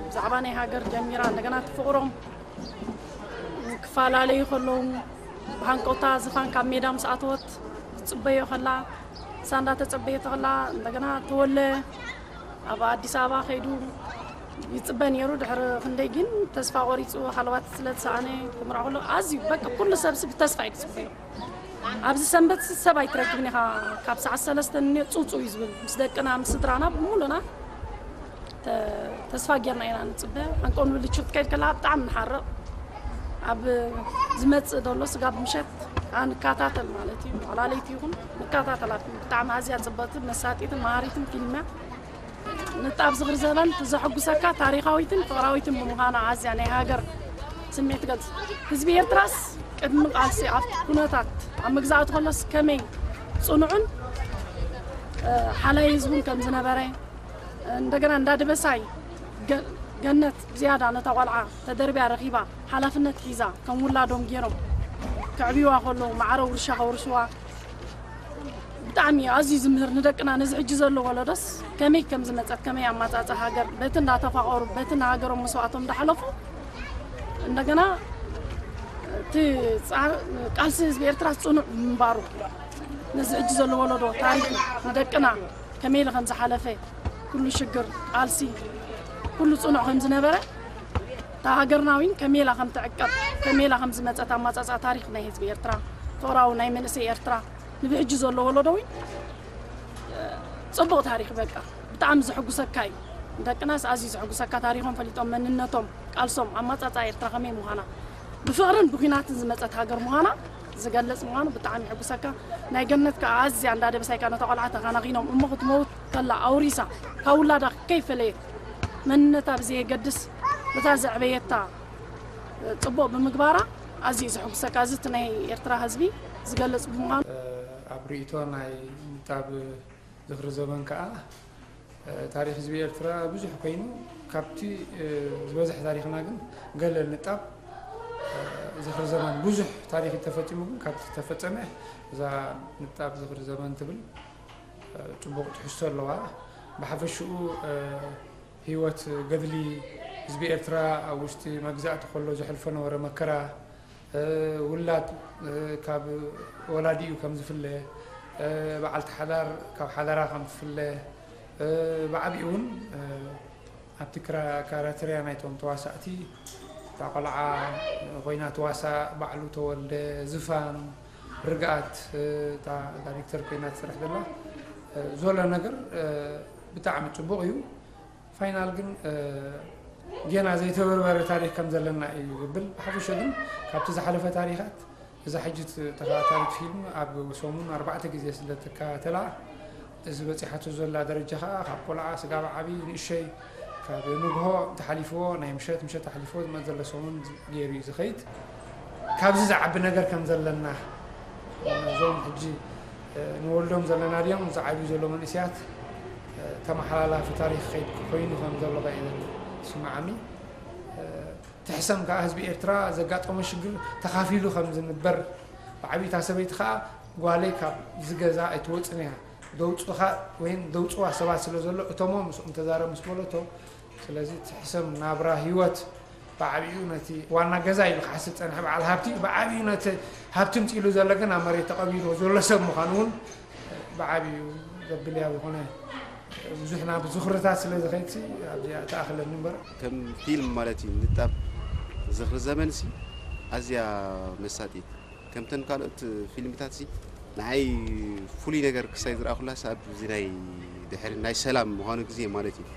ብዛዕባ ናይ ሃገር ጀሚራ እንደገና እቲ ፍቅሮም ክፈላለዩ ከለዉ ብሃንቀውታ ዝፋን ካብ ሜዳ ምስ ኣተወት ትፅበዮ ከላ እሳ እንዳተፀበየቶ ከላ እንደገና ተወለ ኣብ ኣዲስ ኣበባ ከይዱ ይፅበ ነይሩ ድሕሪ ክንደይ ግን ተስፋ ቆሪፁ ሃለዋት ስለ ዝሰኣነ ክምርዖ ከሎ ኣዝዩ በቃ ኩሉ ሰብሲ ብተስፋ እዩ ዝፅበዮ ኣብዚ ሰንበት ሰብ ኣይትረክብን ኢኻ። ካብ ሰዓት ሰለስተ ንንዮ ጹጹ እዩ ዝብል። ምስ ደቅና፣ ምስ ስድራና፣ ብምሉና ተ-፣ ተስፋ ጌርና ኢና ንጽበ። ኣንቆን ብልችት ከይድ ከላ ብጣዕሚ ንሓርቕ። ኣብ ዝመጽእ ዘሎ ስጋብ ምሸት ኣንከታተል ማለት እዩ። ዋላ ለይቲ ይኹን ንከታተላ። ብጣዕሚ ኣዝያ ጽብቕቲ፣ መሳጢትን መሃሪትን ፊልም እያ። ንጣብ ዝኽሪ ዘበን ትዘሐጉሰካ ታሪኻዊትን ፍቕራዊትን ብምዃና ኣዝያ ናይ ሃገር ስምዒት ትገልጽ። ህዝቢ ኤርትራስ ቅድሚ ቃልሲ ኣብቲ ኩነታት ኣብ መግዛእቲ ከሎስ ከመይ ጽኑዕን፣ እ፣ ሓላይ ህዝቡን ከም ዝነበረ፣ እንደገና እንዳ ደበሳይ ገ-፣ ገነት ብዝያዳ ነታ ቆልዓ ተደርብያ ረኺባ ሓላፍነት ሒዛ ከም ውላዶም ገይሮም ከዕብይዋ ከለዉ ማዕረ ውርሻ ከውርስዋ ብጣዕሚ ኣዝዩ ዝምህር ንደቅና ነዚ ሕጂ ዘሎ ወለዶስ ከመይ ከም ዝመጸት ከመይ ኣማጻጻ ሃገር በቲ እንዳተፋቐሩ በቲ ንሃገሮም መስዋእቶም እንዳሓለፉ እንደገና እቲ ጻ-፣ ቃልሲ ህዝቢ ኤርትራ ጽኑዕ ምንባሩ ነዚ ሕጂ ዘሎ ወለዶ ታሪኽ ንደቅና ከመይ ኢሉ ከም ዝሓለፈ ኩሉ ሽግር ቃልሲ ኩሉ ጽኑዕ ከም ዝነበረ እታ ሃገርና እውን ከመይ ኢላ ከም ትዕቀብ ከመይ ኢላ ከም ዝመጸት ኣማጻጻ ታሪኽ ናይ ህዝቢ ኤርትራ ፍቕራዊ ናይ መንእሰይ ኤርትራ ንብሕጂ ዘሎ ወለዶ እውን ጽቡቕ ታሪኽ በቃ ብጣዕሚ ዘሐጉሰካ እዩ። ደቅናስ ኣዝዩ ዘሐጉሰካ ታሪኾም ፈሊጦም መንነቶም ቃልሶም ኣማጻጻ ኤርትራ ከመይ ምዃና ብፍቕርን ብኲናትን ዝመጸት ሃገር ምዃና ዝገልጽ ምዃኑ ብጣዕሚ የሐጉሰካ። ናይ ገነት ከኣ ኣዝያ እንዳ ደበሳይካ ነታ ቆልዓ ተኻናኺኖም እሞ ክትመውት ከላ ኣውሪሳ ካብ ውላዳ ከይፈለየት መንነታ ብዘየገድስ በታ ዘዕበየታ ጽቡቕ ብምግባራ ኣዝዩ ዘሐጉሰካ። እዚ እቲ ናይ ኤርትራ ህዝቢ ዝገልጽ ብምዃኑ ኣብ ርእይቶ ናይ ንጣብ ዝኽሪ ዘበን ከኣ ታሪኽ ህዝቢ ኤርትራ ብዙሕ ኮይኑ ካብቲ ዝበዝሕ ታሪኽና ግን ገለ ንጣብ ዝኽሪ ዘበን ብዙሕ ታሪኽ ተፈጺሙ ግን ካብቲ ተፈጸመ እዛ ንጣብ ዝኽሪ ዘበን ትብል ጽቡቕ ትሕዝቶ ኣለዋ። ብሓፈሽኡ ህይወት ገድሊ ህዝቢ ኤርትራ ኣብ ውሽጢ መግዛእቲ ከሎ ዘሕልፎ ነበረ መከራ ውላድ ካብ ወላዲኡ ከም ዝፍለ በዓልቲ ሓዳር ካብ ሓዳራ ከም ትፍለ ብዓብኡ እውን ኣብቲ ክራተርያ ናይቶም ተዋሳእቲ እታ ቆልዓ ኮይና ተዋሳእ ባዕሉ ተወልደ ዝፋን ርግኣት እታ ዳይሬክተር ኮይና ትሰርሕ ዘላ ዘሎ ነገር ብጣዕሚ ፅቡቕ እዩ። ፋይናል ግን ጌና ዘይተበርበረ ታሪኽ ከም ዘለና እዩ ዝብል። ብሓፈሻ ግን ካብቲ ዝሓለፈ ታሪኻት እዛ ሕጂ ተኸታታሊት ፊልም ኣብ ሰሙን ኣርባዕተ ግዜ ስለ ትከታተላ እዚ በፂሓቶ ዘላ ደረጃ ከዓ ካብ ቆልዓ ስጋብ ዓብዪ ንእሸይ ካብ ንግሆ ተሓሊፍዎ ናይ ምሸት ምሸት ተሓሊፍዎ ዝመፅ ዘሎ ሰሙን ገይሩ እዩ ዝኸይድ። ካብዚ ዝዓቢ ነገር ከም ዘለና እዞም ሕጂ ንወልዶም ዘለና ድዮም ዝዓብዩ ዘሎ መንእሰያት ተመሓላላፊ ታሪኽ ከይድ ኮይኑ ከም ዘሎ ባ እዩ ዝስምዓኒ። ትሕሰም ከዓ ህዝቢ ኤርትራ ዘጋጠሞ ሽግር ተኻፊሉ ከም ዝንበር ብዓብዩ እታ ሰበይቲ ከዓ ጓለይ ካብ ዝገዛ ኣይትወፅን እያ ደውፁኻ ወይም ደውፅዋ ሰባት ስለ ዘሎ እቶሞ ምስኦም ተዛረብ ምስ በለቶ ስለዚ ትሕሰም ናብራ ህይወት ብዓብኡ ነቲ ዋና ገዛ ኢሉ ክሓስብ ጸንሐ በዓል ሃብቲ ብዓብኡ ነቲ ሃብቲ ምጽኢሉ ዘሎ ግን ኣብ መሬት ተቐቢርዎ ዘሎ ሰብ ምዃኑ እውን ብዓብኡ ዘብል እያ ዝኾነ ብዙሕና ብዝኽርታት ስለ ዝኸይድሲ ኣብዚኣ ተኣኽለኒ እምበር ከም ፊልም ማለት እዩ ንጣብ ዝኽሪ ዘመንሲ ኣዝያ መሳጢት ከምተን ካልኦት ፊልምታትሲ ንዓይ ፍሉይ ነገር ክሳይ ዝረኣኹላስ ኣብዚ ናይ ድሕሪ ናይ ሰላም ምዃኑ ግዜ ማለት እዩ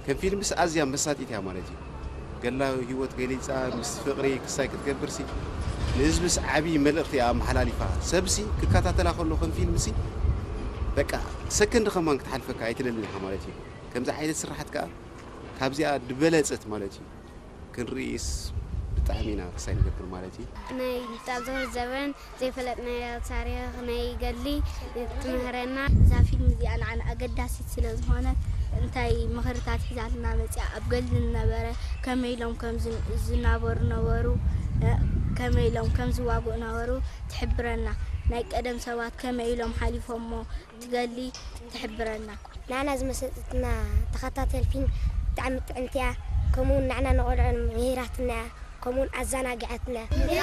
ከም ፊልምስ ኣዝያ መሳጢት እያ ማለት እዩ ገላ ህይወት ገሊፃ ምስ ፍቕሪ ክሳይ ክትገብርሲ ንህዝብስ ዓብዪ መልእኽቲ እያ ኣመሓላሊፋ ሰብሲ ክከታተላ ከሎ ከም ፊልምሲ በቃ ሰከንድ ከማን ክትሓልፈካ ኣይትደልን ኢኻ ማለት እዩ ከምዚ ዓይነት ስራሓት ከዓ ካብዚኣ ድበለፀት ማለት እዩ ክንርእይስ ብጣዕሚ ኢና ክሳይ ንገብር ማለት እዩ ናይ ንጣብ ዝኽሪ ዘበን ዘይፈለጥናዮ ታሪኽ ናይ ገድሊ ትምህረና እዛ ፊልም እዚኣ ንዓና ኣገዳሲት ስለ ዝኾነት እንታይ ምኽርታት ሒዛልና መፂኣ ኣብ ገድሊ ዝነበረ ከመይ ኢሎም ከም ዝን- ዝናበሩ ነበሩ እ፣ ከመይ ኢሎም ከም ዝዋግኡ ነበሩ ትሕብረና ናይ ቀደም ሰባት ከመይ ኢሎም ሓሊፎሞ ትገሊ ትሕብረና። ንዓና ዝመሰጠትና ተኸታተል ፊልም ብጣዕሚ ጥዕምቲ እያ። ከምኡ እውን ንዓና ንቆልዑ ምሂራትና እያ። ከምኡ እውን ኣዘናጊዓትና እያ።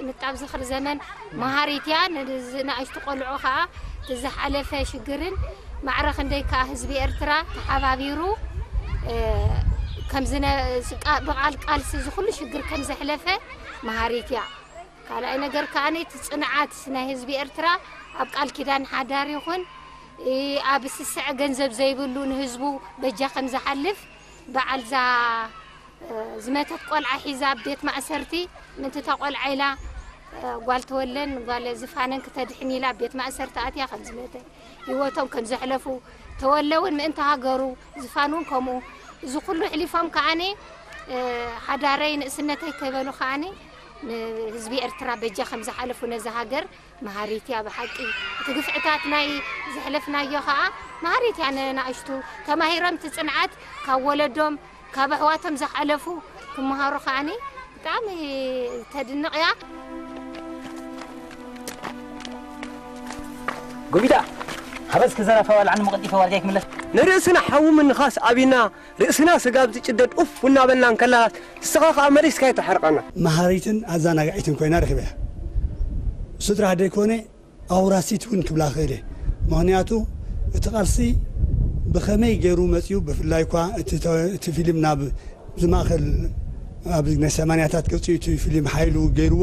ንጣብ ዝኽሪ ዘመን መሃሪት እያ። ንዝ- ንኣሽቱ ቆልዑ ከዓ እቲ ዝሓለፈ ሽግርን ማዕረ ክንደይ ከኣ ህዝቢ ኤርትራ ተሓባቢሩ፣ እ፣ ከም ዝነ-፣ ቃ-፣ ብቓል ቃልሲ እዚ ኩሉ ሽግር ከም ዘሕለፈ መሃሪት እያ። ካልኣይ ነገር ከኣ እቲ ጽንዓት ናይ ህዝቢ ኤርትራ ኣብ ቃል ኪዳን ሓዳር ይኹን፣ እ፣ ኣብ ስስዐ ገንዘብ ዘይብሉ ንህዝቡ በጃ ከም ዝሓልፍ በዓል እዛ፣ እ፣ ዝመተት ቆልዓ ሒዛ ኣብ ቤት ማእሰርቲ፣ ምእንቲ እታ ቆልዓ ኢላ፣ እ፣ ጓል ተወለን ጓል ዝፋነን ክተድሕን ኢላ ኣብ ቤት ማእሰርቲ ኣትያ ከም ዝመተ፣ ህይወቶም ከም ዘሕለፉ፣ ተወለ እውን ምእንቲ ሃገሩ፣ ዝፋን እውን ከምኡ፣ እዚ ኩሉ ኣሕሊፎም ከኣኒ፣ እ፣ ሓዳረይ ንእስነተይ ከይበሉ ከኣኒ ንህዝቢ ኤርትራ በጃ ከም ዝሓለፉ ነዛ ሃገር መሃሪት እያ ብሓቂ። እቲ ግፍዕታት ናይ ዘሕለፍናዮ ከኣ መሃሪት እያ ንናእሽቱ። ተማሂሮም እቲ ጽንዓት ካብ ወለዶም፣ ካብ ኣሕዋቶም ዝሓለፉ ክመሃሩ ከኣኒ ብጣዕሚ ተድንቕ እያ። ጎቢዳ፣ ሓበስ ክዘረፋ ዋልዓን መቐጢፈ ዋልጋይ ክምለስ። ንርእስና ሓዊ ምንኻስ ኣቢና፣ ርእስና ስጋብ ዝጭደድ ኡፍ እናበልና እንከላስ፣ ንስኻ ከኣ መሊስካ ይተሓርቐና። መሃሪትን ኣዘናጋዒትን ኮይና ረኺበያ። እሱ ጥራሕ ደይኮነ፣ ኣውራሲት እውን ክብላ ክእል እየ። ምኽንያቱ፣ እቲ ቃልሲ ብኸመይ ገይሩ መጺኡ፣ ብፍላይ እኳ እቲ ተ-፣ እቲ ፊልም ናብ ዝማእኸል ኣብ ናይ ሰማንያታት ገጺኡ እቲ ፊልም ሓይሉ ገይርዎ።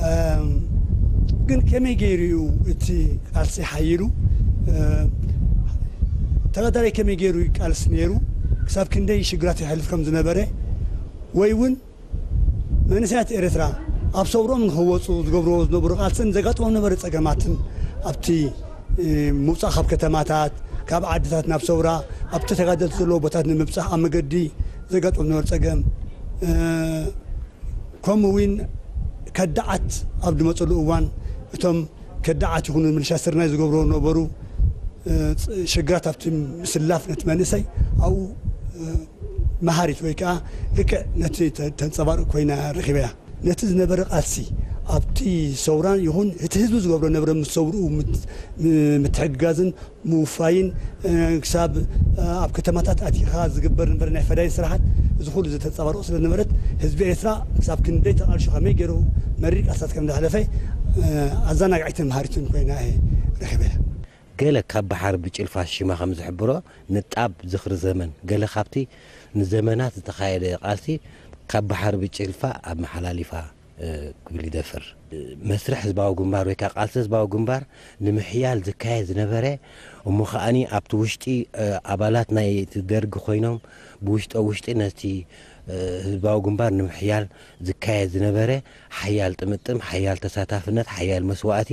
እም፣ ግን ከመይ ገይሩ እዩ እቲ ቃልሲ ሓይሉ? እም፣ ተጋዳላይ ከመይ ገይሩ እዩ ቃልሲ ነይሩ? ክሳብ ክንደይ ሽግራት የሕልፍ ከም ዝነበረ ወይ እውን መንእሰያት ኤርትራ ኣብ ሰውርኦም ንኽወጹ ዝገብርዎ ዝነበሩ ቃልስን ዘጋጥሞም ነበረ ጸገማትን ኣብቲ፣ እ፣ ምውጻእ ካብ ከተማታት፣ ካብ ዓድታት ናብ ሰውራ፣ ኣብቲ ተጋደልቲ ዘለዎ ቦታት ንምብጻሕ ኣብ መገዲ ዘጋጥሞም ነበረ ጸገም፣ እ፣ ከምኡ እውን ከዳዓት ኣብ ዝመጸሉ እዋን እቶም ከዳዓት ይኹኑ ምልሻ ስርናይ ዝገብርዎ ነበሩ፣ እ፣ ፅ-፣ ሽግራት ኣብቲ ምስላፍ ነቲ መንእሰይ ኣብኡ፣ እ፣ መሃሪት ወይ ከዓ ልክዕ ነቲ ተ-፣ ተንጸባርቕ ኮይና ረኺበያ። ነቲ ዝነበረ ቃልሲ ኣብቲ ሰውራን ይኹን እቲ ህዝቢ ዝገብሮ ነበረ ምስ ሰውርኡ ምት-፣ ም-፣ ምትሕግጋዝን ምውፋይን፣ እ፣ ክሳብ፣ እ፣ ኣብ ከተማታት ኣቲኻ ዝግበር ነበረ ናይ ፈዳይን ስራሓት፣ እዚ ኩሉ ዝተንጸባርቑ ስለ ዝነበረት ህዝቢ ኤርትራ ክሳብ ክንደይ ተቓልሾ ከመይ ገይሩ መሪር ቃልስታት ከም ዘሕለፈ፣ እ፣ ኣዘናጋዒትን መሃሪትን ኮይና እየ ረኺበያ። ገለ ካብ ባሕሪ ብጭልፋ ሽማ ከም ዝሕብሮ ንጣብ ዝኽሪ ዘመን፣ ገለ ካብቲ ንዘመናት ዝተኻየደ ቃልሲ ካብ ባሕሪ ብጭልፋ ኣመሓላሊፋ፣ እ፣ ክብል ይደፍር። መስርሕ ህዝባዊ ግንባር ወይ ከዓ ቃልሲ ህዝባዊ ግንባር ንምሕያል ዝካየድ ዝነበረ፣ እሞ ከኣኒ ኣብቲ ውሽጢ፣ እ፣ ኣባላት ናይ እቲ ደርጊ ኮይኖም ብውሽጠ ውሽጢ ነቲ፣ እ፣ ህዝባዊ ግንባር ንምሕያል ዝካየድ ዝነበረ ሓያል ጥምጥም፣ ሓያል ተሳታፍነት፣ ሓያል መስዋእቲ፣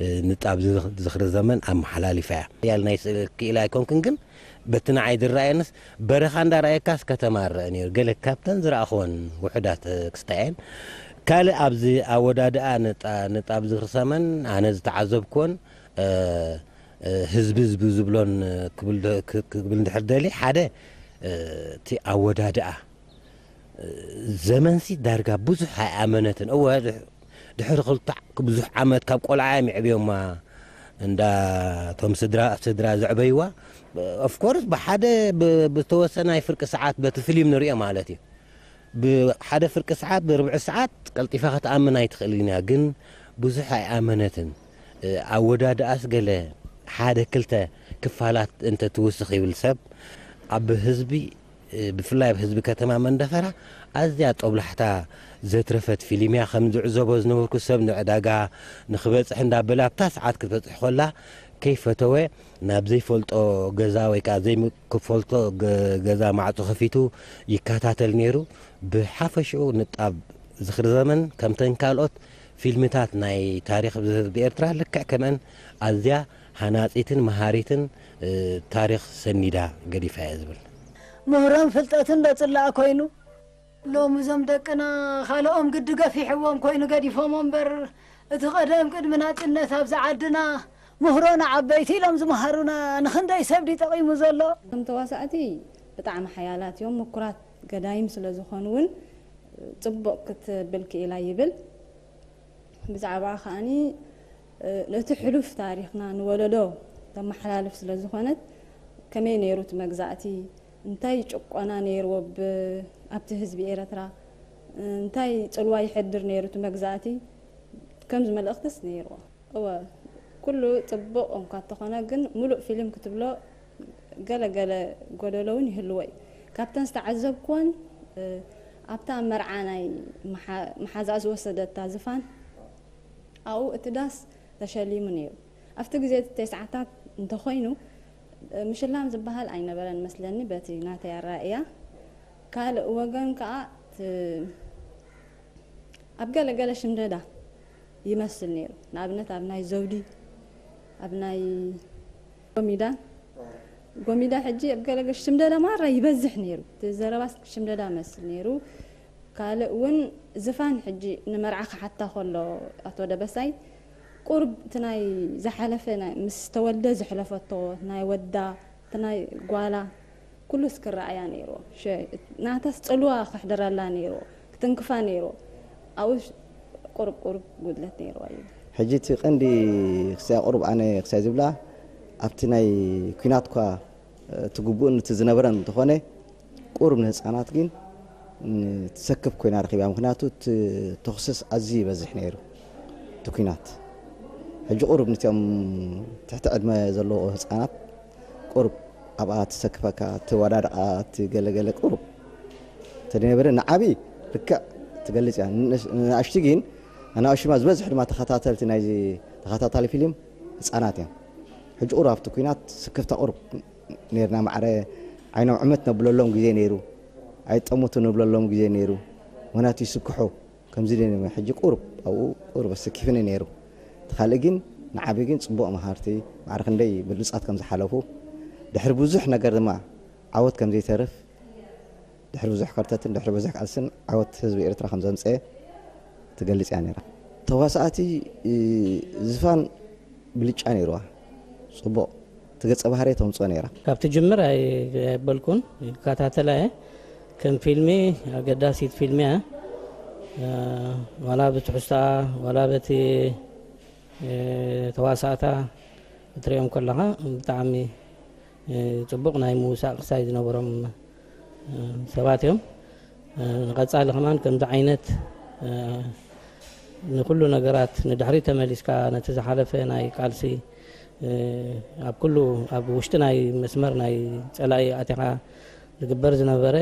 እ፣ ንጣብ ዝኽ-፣ ዝኽሪ ዘመን ኣመሓላሊፋ እያ። ሓያል ናይ ስእሊ ክኢላ ኣይኮንኩን፣ ግን በቲ ንዓይ ዝረኣየንስ በረኻ እንዳረኣየካስ ከተማ ይረአ ነይሩ። ገለ ካብተን ዝረኣኹወን ውሑዳት፣ እ፣ ክስታይ እየን። ካልእ ኣብዚ ኣወዳድኣ ንጣ-፣ ንጣብ ዝኽሪ ዘመን ኣነ ዝተዓዘብኩዎን፣ እ፣ እ፣ ህዝቢ ህዝቢ ዝብሎን፣ እ፣ ክብል ዶ-፣ ክ-፣ ክብል እንድሕር ደልየ፣ ሓደ፣ እ፣ እቲ ኣወዳድኣ ዘመንሲ ዳርጋ ብዙሕ ኣይኣመነትን። እወ፣ ድሕ-፣ ድሕሪ ክልተ ብዙሕ ዓመት ካብ ቆልዓ እዮም የዕብዮማ። እንዳ እቶም ስድራ፣ ስድራ ዘዕበይዋ፣ ኦፍኮርስ፣ ብሓደ ብ-፣ ብተወሰናይ ፍርቂ ሰዓት በቲ ፊልም ንሪኦ ማለት እዩ። ብሓደ ፍርቂ ሰዓት፣ ብርብዒ ሰዓት ቀልጢፋ ክትኣምን ኣይትኽእልን እያ። ግን ብዙሕ ኣይኣመነትን። እ፣ ኣወዳድኣስ ገለ ሓደ ክልተ ክፋላት እንተ ትውስኽ ይብል ሰብ፣ ኣብ ህዝቢ፣ እ፣ ብፍላይ ኣብ ህዝቢ ከተማ መንደፈራ ኣዝያ ጦብላሕታ ዘትረፈት ፊልም እያ። ከም ዝዕዘቦ ዝነበርኩ፣ ሰብ ንዕዳጋ ንኽበጽሕ እንዳበለ ኣብታ ሰዓት ክትበጽሕ ከላ ከይፈተወ ናብ ዘይፈልጦ ገዛ ወይ ከዓ ዘይክፈልጦ ገ-፣ ገዛ ማዕጾ ከፊቱ ይከታተል ነይሩ። ብሓፈሽኡ ንጣብ ዝኽሪ ዘመን ከምተን ካልኦት ፊልምታት ናይ ታሪኽ ህዝቢ ኤርትራ ልክዕ ከምአን ኣዝያ ሃናጺትን መሃሪትን፣ እ፣ ታሪኽ ሰኒዳ ገዲፋ እያ ዝብል። ምህሮን ፍልጠትን ዶ ጽላእ ኮይኑ? ሎሚ እዞም ደቅና ካልኦም ግዲ ገፊሕዎም ኮይኑ ገዲፎሞ እምበር፣ እቲ ቀደም ቅድሚ ናጽነት ኣብዚ ዓድና ምህሮ ንዓበይቲ ኢሎም ዝመሃሩና ንኽንደይ ሰብ ድዩ ጠቒሙ ዘሎ? እቶም ተዋሳእቲ ብጣዕሚ ሓያላት እዮም፣ ምኩራት ገዳይም ስለ ዝኾኑ እውን ጽቡቕ ክትብል ክኢላ ይብል። ብዛዕባኣ ከኣኒ፣ እ፣ ነቲ ሕሉፍ ታሪኽና ንወለዶ ተመሓላልፍ ስለ ዝኾነት፣ ከመይ ነይሩ እቲ መግዛእቲ፣ እንታይ ጭቆና ነይርዎ ብ-፣ ኣብቲ ህዝቢ ኤረትራ፣ እንታይ ጽልዋ ይሕድር ነይሩ እቲ መግዛእቲ፣ ከምዚ መልእኽትስ ነይርዎ። እወ፣ ኩሉ ጽቡቕ እንኳ እንተኾነ ግን፣ ምሉእ ፊልም ክትብሎ ገለ ገለ ጎደሎ እውን ይህልዎ እዩ። ካብተን ዝተዓዘብኩወን፣ እ፣ ኣብታ መርዓ ናይ መሓ-፣ መሓዛኣ ዝወሰደታ ዝፋን፣ ኣብኡ እቲ ዳስ ተሸሊሙ ነይሩ። ኣብቲ ግዜ እቲ ተስዓታት እንተኾይኑ፣ እ፣ ምሽላም ዝበሃል ኣይነበረን መስለኒ፣ በቲ ናተይ ኣረኣእያ። ካልእ ወገን ከኣ፣ ት-፣ ኣብ ገለ ገለ ሽምደዳ ይመስል ነይሩ። ንኣብነት ኣብ ናይ ዘውዲ፣ ኣብ ናይ ጎሚዳ፣ ጎሚዳ ሕጂ ኣብ ገለ ገለ ሽምደዳ ማራ ይበዝሕ ነይሩ። እቲ ዘረባስ ሽምደዳ መስል ነይሩ። ካልእ እውን ዝፋን ሕጂ ንመርዓ ክሓታ ከሎ ኣቶ ደበሳይ ቁርብ እቲ ናይ ዝሓለፈ ናይ ምስ ተወልደ ዘሕለፈቶ ናይ ወዳ እቲ ናይ ጓላ ኩሉስ ክረኣያ ነይርዎ። ሸ-፣ ናታስ ጽልዋ ክሕደረላ ነይርዎ፣ ክትንክፋ ነይርዎ። ኣብኡ ቁርብ ቁርብ ጉድለት ነይርዋ እዩ። ሕጂ እቲ ቀንዲ ክሳይ ቁሩብ ኣነ ክሳይ ዝብላ ኣብቲ ናይ ኲናት እኳ እቲ ግቡእን እቲ ዝነበረን እንተኾነ ቁሩብ ንህፃናት ግን ትሰክፍ ኮይና ረኺባ። ምክንያቱ እቲ ተኹስስ ኣዝዩ ይበዝሕ ነይሩ እቲ ኲናት። ሕጂ ቁሩብ ንቲኦም ትሕቲ ዕድመ ዘለዎ ህፃናት ቁሩብ ኣብኣ ትሰክፈካ፣ እቲ ወዳድቓ፣ እቲ ገለገለ ቁሩብ ተደነበረ ንዓቢ ልክዕ ትገልጽ እያ። ንእሽ-፣ ንኣሽቱ ግን ኣናእሽቱ ድማ ዝበዝሕ ድማ ተኸታተልቲ ናይዚ ተኸታታሊ ፊልም ህፃናት እዮም። ሕጂ ቁሩብ ኣብቲ ኲናት ስክፍታ ቁሩብ ነይርና። ማዕረ ዓይኖም ዕመት ነብለሎም ግዜ ነይሩ፣ ኣይጠሙቱ ንብለሎም ግዜ ነይሩ። ምክንያቱ ይስክሑ ከምዚ ደይ ሕጂ ቁሩብ ኣብኡ ቁሩብ ኣሰኪፍኒ ነይሩ። እቲ ካልእ ግን ንዓቢ ግን ጽቡቕ መሃርቲ ማዕረ ክንደይ ብሉጻት ከም ዝሓለፉ ድሕሪ ብዙሕ ነገር ድማ ዓወት ከም ዘይተርፍ ድሕሪ ብዙሕ ከርተትን ድሕሪ ብዙሕ ቃልስን ዓወት ህዝቢ ኤርትራ ከም ዘምጸአ ትገልጽ እያ ነይራ። ተዋሳእቲ፣ እ፣ ዝፋን ብልጫ ነይርዋ። ጽቡቕ እቲ ገጸ ባህሪ ተምጽኦ ነይራ። ካብ ትጅምር ኣይ-፣ ኣይበልኩን፣ ይከታተላ እየ። ከም ፊልሚ ኣገዳሲት ፊልሚ እያ። እ፣ ዋላ ብትሕዝቶኣ፣ ዋላ በቲ፣ እ፣ ተዋሳእታ ክትሪኦም ከለኻ ብጣዕሚ፣ እ፣ ጽቡቕ ናይ ምውሳእ ክሳይ ዝነበሮም፣ እ፣ ሰባት እዮም። እ፣ ንቐጻሊ ከማን ከምዚ ዓይነት፣ እ፣ ንኩሉ ነገራት ንድሕሪት ተመሊስካ ነቲ ዝሓለፈ ናይ ቃልሲ፣ እ፣ ኣብ ኩሉ ኣብ ውሽጢ ናይ መስመር ናይ ጸላኢ ኣቲኻ ዝግበር ዝነበረ፣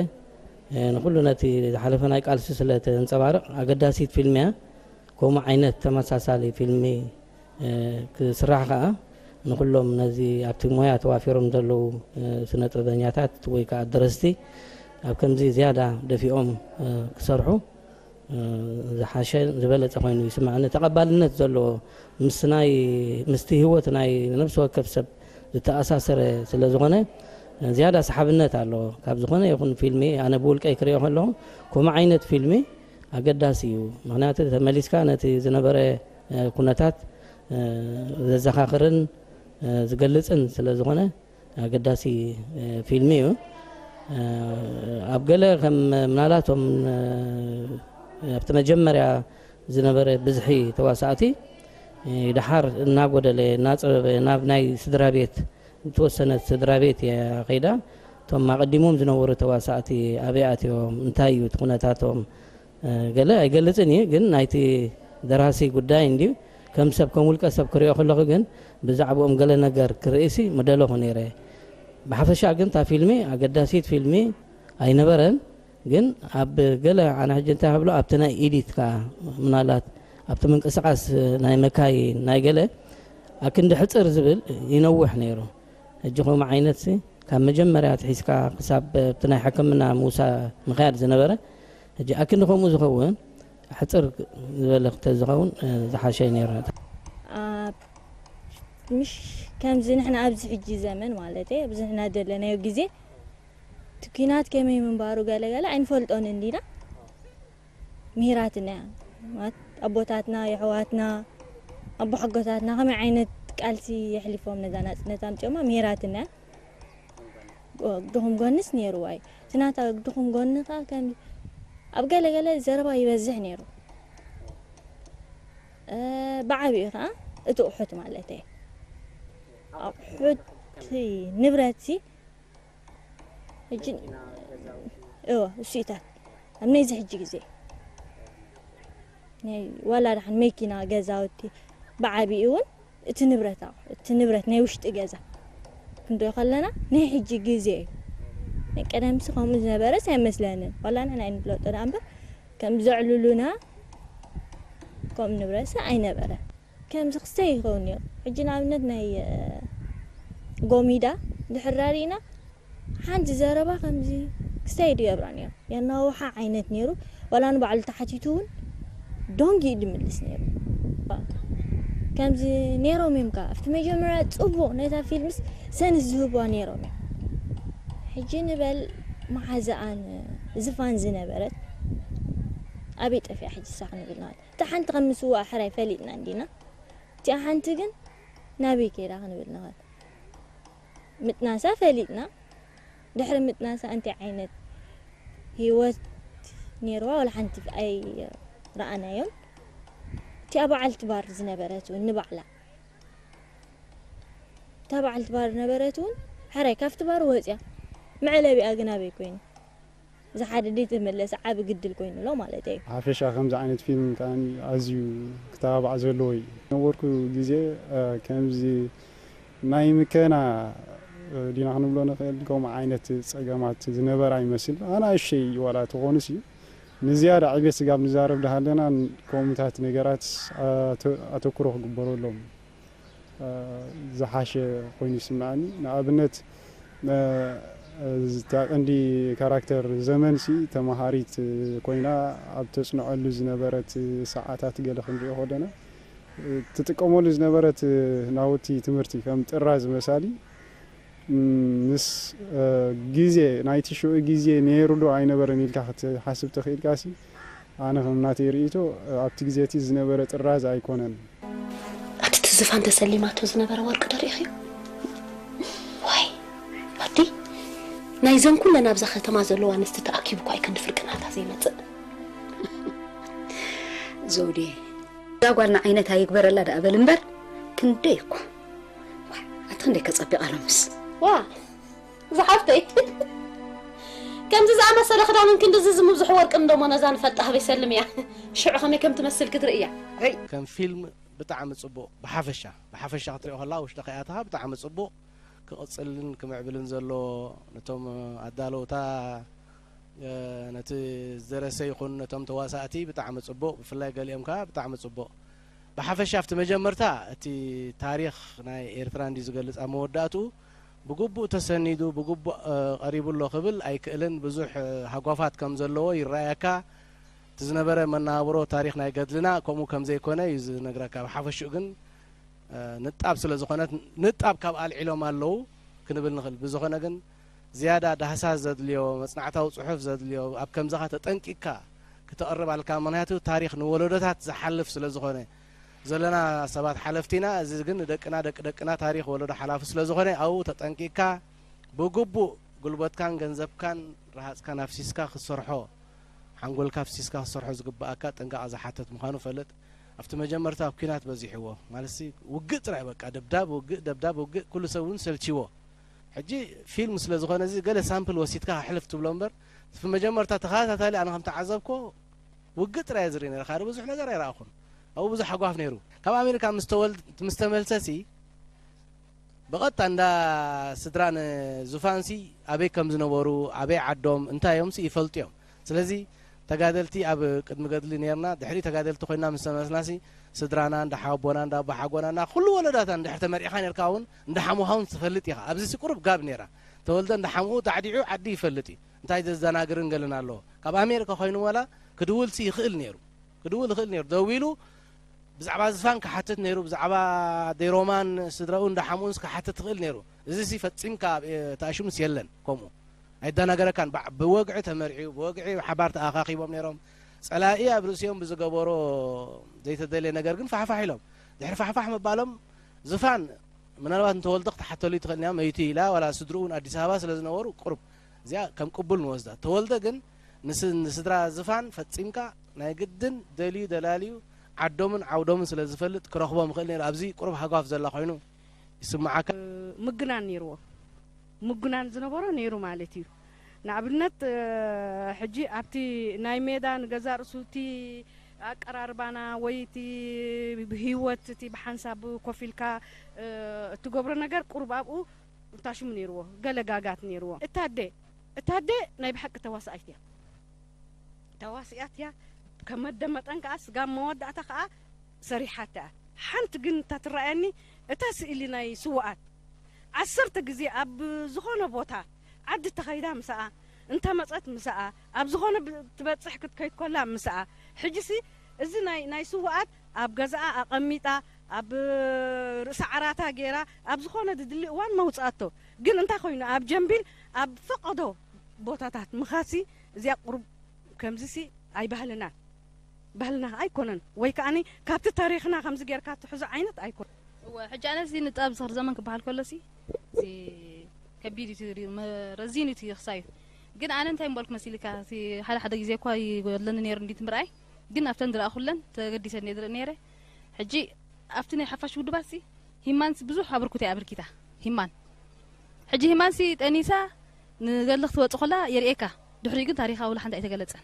እ፣ ንኩሉ ነቲ ዝሓለፈ ናይ ቃልሲ ስለ ተንጸባርቕ ኣገዳሲት ፊልም እያ። ከምኡ ዓይነት ተመሳሳሊ ፊልሚ፣ እ፣ ክስራሕ ከኣ ንኩሎም ነዚ ኣብቲ ሞያ ተዋፊሮም ዘለዉ፣ እ፣ ስነ ጥበበኛታት ወይ ከኣ ደረስቲ ኣብ ከምዚ ዝያዳ ደፊኦም፣ እ፣ ክሰርሑ፣ እ፣ ዝሓሸ ዝበለጸ ኮይኑ ይስምዓኒ። ተቐባልነት ዘለዎ ምስ ናይ፣ ምስቲ ህይወት ናይ ነፍሲ ወከፍ ሰብ ዝተኣሳሰረ ስለ ዝኾነ፣ እ፣ ዝያዳ ሰሓብነት ኣለዎ። ካብ ዝኾነ ይኹን ፊልሚ ኣነ ብውልቀይ ክሪኦ ከለኹ ከምኡ ዓይነት ፊልሚ ኣገዳሲ እዩ። ምክንያቱ ተመሊስካ ነቲ ዝነበረ፣ እ፣ ኩነታት፣ እ፣ ዘዘኻኽርን፣ እ፣ ዝገልጽን ስለ ዝኾነ ኣገዳሲ፣ እ፣ ፊልሚ እዩ። እ፣ ኣብ ገለ ከም ምናልባቶም፣ እ፣ ኣብቲ መጀመርያ ዝነበረ ብዝሒ ተዋሳእቲ፣ እ፣ ደሓር እናጎደለ፣ እናጸበበ፣ ናብ ናይ ስድራ ቤት፣ ዝተወሰነት ስድራ ቤት እያ ከይዳ። እቶም ኣቐዲሞም ዝነበሩ ተዋሳእቲ ኣበይ ኣትዮም፣ እንታይ እዩ እቲ ኩነታቶም፣ እ፣ ገለ ኣይገልጽን እዩ፣ ግን ናይቲ ደራሲ ጉዳይ እንድዩ። ከም ሰብ፣ ከም ውልቀ ሰብ ክሪኦ ከለኹ ግን ብዛዕባኦም ገለ ነገር ክርእሲ ምደለኹ ነይረ። ብሓፈሻ ግን እታ ፊልሚ ኣገዳሲት ፊልሚ ኣይነበረን። ግን ኣብ ገለ ኣነ ሕጂ እንታይ ክብሎ ኣብቲ ናይ ኢዲት ከኣ ምናልባት ኣብቲ ምንቅስቃስ ናይ መካይን ናይ ገለ ኣክንዲ ሕጽር ዝብል ይነውሕ ነይሩ። ሕጂ ከምኡ ዓይነትሲ ካብ መጀመርያ ኣትሒዝካ ክሳብ እቲ ናይ ሕክምና ምውሳ ምኽያድ ዝነበረ፣ ሕጂ ኣክንዲ ከምኡ ዝኸውን ሕጽር ዝበለ ክተ ዝኸውን፣ እ፣ ዝሓሸ እዩ ነይሩ። ኣብ፣ ምሽ ከምዚ ንሕና ኣብዚ ሕጂ ዘመን ማለት እየ፣ ኣብዚ ንሕና ዘለናዮ ግዜ እቲ ኲናት ከመይ ምንባሩ ገለ ገለ ኣይንፈልጦን እንዲና። ምሂራትና እያ። ማለት ኣቦታትና፣ የሕዋትና፣ ኣቦሓጎታትና ከመይ ዓይነት ቃልሲ የሕሊፎም ነዛ ናጽነት ኣምጺኦማ ምሂራትና እያ። ጎ-፣ ድኹም ጎንስ ነይርዋ እዩ። እቲ ናታ ድኹም ጎኒ ከኣ ከም ኣብ ገለ ገለ ዘረባ ይበዝሕ ነይሩ። እ፣ ብዓቢኡ ከኣ እቲ ኣቑሑት ማለት እየ። ኣቑሑት ንብረትሲ ሕጂ፣ እወ፣ እሱኢታት ኣብ ነዚ ሕጂ ግዜ ናይ ዋላ ደሓን መኪና፣ ገዛውቲ ብዓቢኡ እውን እቲ ንብረት ኣቑሑ፣ እቲ ንብረት ናይ ውሽጢ ገዛ ክንሪኦ ከለና ናይ ሕጂ ግዜ እዩ። ናይ ቀደምሲ ከምኡ ዝነበረስ ኣይመስለንን። ዋላ ንሕና ኣይንፍለጦ ደኣ እምበር ከም ዘዕልሉና ከምኡ ንብረትሲ ኣይነበረ። ከምዚ ክስተይ ይኸውን እዩ። ሕጂ ንኣብነት ናይ፣ እ፣ ጎሚዳ ድሕር ራሪእና ሓንቲ ዘረባ ከምዚ ክስተይ ድገብራ ነይሩ። የናውሓ ዓይነት ነይሩ። ዋላ ንባዕሉ ተሓቲቱ እውን ዶንጊ እዩ ድምልስ ነይሩ። ከምዚ ነይሮም እዮም ከኣ። ኣብቲ መጀመርያ ጽቡቕ ነታ ፊልምስ ሰንስ ዝህብዋ ነይሮም እዮም። ሕጂ ንበል መሓዛኣን ዝፋን ዝነበረት ኣበይ ጠፊኣ ሕጂ እሳ ክንብል ንኽእል? እታ ሓንቲ ከም ምስዋእ ሕራይ ፈሊጥና እንዲና። እቲኣ ሓንቲ ግን ናበይ ከይዳ ክንብል ንኽእል? ምጥናሳ ፈሊጥና። ድሕሪ ምጥናሳ እንታይ ዓይነት ህይወት ነይርዋ ዋላ ሓንቲ ኣይረኣናዮን። እቲኣ በዓልቲ ባር ዝነበረት እውን ንባዕላ፣ እታ በዓልቲ ባር ነበረት እውን ሕራይ ካብቲ ባር ወፅያ። መዕለቢኣ ግን ኣበይ ኮይኑ? እዚ ሓደ ደይ ተመለሰ ዓቢ ግድል ኮይኑ ኣሎ ማለት እዩ። ሓፈሻ ከምዚ ዓይነት ፊልም ከኣ ኣዝዩ ክተባባዕ ዘለዎ እዩ። ነበርኩ ግዜ፣ እ፣ ከምዚ ናይ ምከና፣ እ፣ ዲና ክንብሎ ንኽእል፣ ከምኡ ዓይነት ጸገማት ዝነበራ ይመስል። ኣናእሽተይ ዋላ ተኾኑስ እዩ። ንዝያዳ ዕቤት ስጋብ ንዛረብ ዳሃለና ከምኡታት ነገራት ኣተ-፣ ኣተኩሮ ክግበረሎም፣ እ፣ ዝሓሸ ኮይኑ ይስምዓኒ። ንኣብነት፣ እ፣ እታ ቀንዲ ካራክተር ዘመንሲ ተማሃሪት ኮይና ኣብ ተጽንዐሉ ዝነበረት ሰዓታት ገለ ክንሪኦ ከለና፣ እ፣ ትጥቀመሉ ዝነበረት ናውቲ ትምህርቲ ከም ጥራዝ መሳሊ፣ ም፣ ምስ፣ እ፣ ግዜ ናይቲ ሽዑ ግዜ ነይሩ ዶ ኣይነበረን ኢልካ ክትሓስብ ተኽኢልካሲ፣ ኣነ ከም ናተይ ርእይቶ፣ እ፣ ኣብቲ ግዜ እቲ ዝነበረ ጥራዝ ኣይኮነን። ኣቲ ትዝፋን ተሰሊማቶ ዝነበረ ወርቂ ዶ ርኢኽዮ? ዋይ፣ ኣቲ ናይዘን ኩለን ኣብዛ ከተማ ዘለዋ ኣንስቲ ተኣኪቡ እኳ እዩ ክንዲ ፍርቅናታ ዘይመጽእ። ዘውዴ፣ እዛ ጓልና ዓይነታ ይግበረላ ደኣ በል እምበር፣ ክንደይ እኳ። ዋይ፣ ኣቲ ክንደይ ከጸቢቓ ሎምስ። ዋ፣ ዝሓፍተይ። ከምዚ ዝኣመሰለ ክዳንን ክንድዚ ዝምብዝሑ ወርቅን ደሞ ነዛ ንፈልጣ ህበይ ሰልምያ። ሽዑ ከመይ ከም ትመስል ክትርእያ። ሄይ። ከም ፊልም ብጣዕሚ ጽቡቕ። ብሓፈሻ፣ ብሓፈሻ ክትሪኦ ከላ ውሽጢ ከይኣተኻ ብጣዕሚ ጽቡቕ። ክቕጽልን ክምዕብልን ዘለዎ ነቶም ኣዳለውታ፣ እ፣ ነቲ ዝደረሰ ይኹን ነቶም ተዋሳእቲ ብጣዕሚ ጽቡቕ። ብፍላይ ገሊኦም ከኣ ብጣዕሚ ጽቡቕ። ብሓፈሻ ኣብቲ መጀመርታ እቲ ታሪኽ ናይ ኤርትራ እንዲ ዝገልጽ ኣብ መወዳእትኡ ብግቡእ ተሰኒዱ፣ ብግቡእ፣ እ፣ ቀሪቡ ኣሎ ክብል ኣይክእልን። ብዙሕ፣ እ፣ ሃጓፋት ከም ዘለዎ ይረኣየካ። እቲ ዝነበረ መነባብሮ ታሪኽ ናይ ገድልና ከምኡ ከም ዘይኮነ እዩ ዝነግረካ። ብሓፈሽኡ ግን፣ እ፣ ንጣብ ስለ ዝኾነት፣ ንጣብ ካብ ኣልዒሎም ኣለዉ ክንብል ንኽእል። ብዝኾነ ግን ዝያዳ ዳህሳስ ዘድልዮ፣ መጽናዕታዊ ጽሑፍ ዘድልዮ፣ ኣብ ከምዚ ኸኣ ተጠንቂቕካ ክትቐርብ ኣለካ። ምኽንያቱ ታሪኽ ንወለዶታት ዝሓልፍ ስለ ዝኾነ፣ ዘለና ሰባት ሓለፍቲ ኢና። እዚ ግን ንደቅና፣ ደቂ ደቅና ታሪኽ ወለዶ ሓላፊ ስለ ዝኾነ፣ ኣብኡ ተጠንቂቕካ ብግቡእ ጉልበትካን ገንዘብካን ረሃጽካን ኣፍሲስካ ክትሰርሖ፣ ሓንጎልካ ኣፍሲስካ ክትሰርሖ ዝግብኣካ ጥንቃቐ ዝሓትት ምዃኑ ፈልጥ። ኣብቲ መጀመርታ ኣብ ኲናት በዚሕዎ፣ ማለትሲ ውግእ ጥራይ በቃ፣ ደብዳብ ውግእ፣ ደብዳብ ውግእ፣ ኩሉ ሰብ እውን ሰልችዎ። ሕጂ ፊልም ስለ ዝኾነ እዚ ገለ ሳምፕል ወሲድካ ሕልፍ ትብሎ እምበር፣ እቲ መጀመርታ ተኸታታሊ ኣነ ከም ተዓዘብኮ ውግእ ጥራይ እየ ዝርኢ ነይረ፣ ካልእ ብዙሕ ነገር ኣይረኣኹን። ኣብኡ ብዙሕ ሃጓፍ ነይሩ። ካብ ኣሜሪካ ምስ ተወል-፣ ምስ ተመልሰሲ ብቐጥታ እንዳ ስድራ ንዙፋንሲ ኣበይ ከም ዝነበሩ፣ ኣበይ ዓዶም፣ እንታይ እዮምሲ ይፈልጡ እዮም። ስለዚ ተጋደልቲ ኣብ ቅድሚ ገድሊ ነርና፣ ድሕሪ ተጋደልቲ ኮይና ምስ ተመለስናሲ ስድራና፣ እንዳ ሓቦና፣ እንዳ ኣቦሓጎና፣ እንዳ ኩሉ ወለዳታ እንድሕር ተመርዒኻ ነርካ እውን እንዳ ሓሙኻ እውን ትፈልጥ ኢኻ። ኣብዚሲ ቁሩብ ጋብ ነይራ። ተወልደ እንዳ ሓምኡ ዳዕዲዑ ዓዲ ይፈልጥ እዩ። እንታይ ዘዘናግርን ገለን ኣለዎ። ካብ ኣሜሪካ ኮይኑ ዋላ ክድውልሲ ይኽእል ነይሩ። ክድውል ይኽእል ነይሩ። ደዊሉ ብዛዕባ ዝፋን ክሓትት ነይሩ፣ ብዛዕባ ኣደይ ሮማን ስድራኡ እንዳ ሓምኡንስ ክሓትት ይኽእል ነይሩ። እዚሲ ፈጺምካ ኣብ፣ እ፣ ተኣሽሙስ የለን ከምኡ። ኣይደናገረካን። ባ-፣ ብወግዒ ተመርዕዩ፣ ብወግዒ ሓባር ተኣኻኺቦም ነይሮም። ጸላኢ ኣብ ርእሲኦም ብዝገበሮ ዘይተደልየ ነገር ግን ፋሕፋሕ ኢሎም። ድሕሪ ፋሕፋሕ ምባሎም ዝፋን ምናልባት ንተወልደ ክትሓተሉ ትኽእል እያ፣ መይቱ ኢላ፣ ዋላ ስድርኡ እውን ኣዲስ ኣበባ ስለ ዝነበሩ ቁሩብ እዚኣ ከም ቅቡል ንወስዳ። ተወልደ ግን ንስ-፣ ንስድራ ዝፋን ፈጺምካ ናይ ግድን ደልዩ ደላልዩ ዓዶምን ዓውዶምን ስለ ዝፈልጥ ክረኽቦም ይኽእል ነይሩ። ኣብዚ ቁሩብ ሃጓፍ ዘላ ኮይኑ ይስምዓካ። ምግናን ነይርዎ። ምጉናን ዝነበሮ ነይሩ ማለት እዩ። ንኣብነት፣ እ፣ ሕጂ ኣብቲ ናይ ሜዳ ንገዛእ ርእሱ እቲ፣ ኣቀራርባና ወይ እቲ ህይወት እቲ ብሓንሳብ ኮፍ ኢልካ እትገብሮ ነገር ቁሩብ ኣብኡ እንታሽሙ ነይርዎ፣ ገለ ጋጋት ነይርዎ። እታ ኣደ እታ ኣደ ናይ ብሓቂ ተዋሳኣይት እያ፣ ተዋሲኣት እያ። ከመደመጠን ከዓ ስጋብ መወዳእታ ከዓ ሰሪሓታ እያ። ሓንቲ ግን እታ ትረኣየኒ እታ ስእሊ ናይ ስዋኣት ዓሰርተ ግዜ ኣብ ዝኾነ ቦታ ዓዲ ተኸይዳ ምስኣ እንተ መጸት ምስኣ ኣብ ዝኾነ ትበጽሕ ክትከይድ ኮላ ምስኣ። ሕጂሲ እዚ ናይ ናይ ስዋኣት ኣብ ገዛኣ ኣቐሚጣ ኣብ ርእሲ ዓራታ ገይራ ኣብ ዝኾነ ድድሊ እዋን መውጻእቶ። ግን እንታይ ኮይኑ ኣብ ጀምቢል ኣብ ፈቐዶ ቦታታት ምኻሲ እዚኣ ቁሩብ ከምዚሲ ኣይባህልናን። ባህልና ኣይኮነን ወይ ከኣኒ ካብቲ ታሪኽና ከምዚ ጌርካ ትሕዞ ዓይነት ኣይኮነን። እወ ሕጂ ኣነ እዚ ንጣብ ዝኽሪ ዘመን ክበሃል ከሎ ሲ እዚ ከቢድ እዩ እቲ ሪ- መ- ረዚን እዩ እቲ ክሳዩ። ግን ኣነ እንታይ ምበልኩ መሲልካ እቲ ሓደ ሓደ ግዜ እኳ ይጎድለኒ ነይሩ እንዲት ምርኣይ። ግን ኣብተን ዝረኣኹለን ተገዲሰ እየ ዝርኢ ነይረ። ሕጂ ኣብቲ ናይ ሓፋሽ ውድባት ሲ ሂማንስ ብዙሕ ኣበርክቶ እያ ኣበርኪታ። ሂማን ሕጂ ሂማንሲ ጠኒሳ ንገድሊ ክትወፅእ ከላ የርእየካ። ድሕሪኡ ግን ታሪኻ ወላ ሓንቲ ኣይተገለፀን።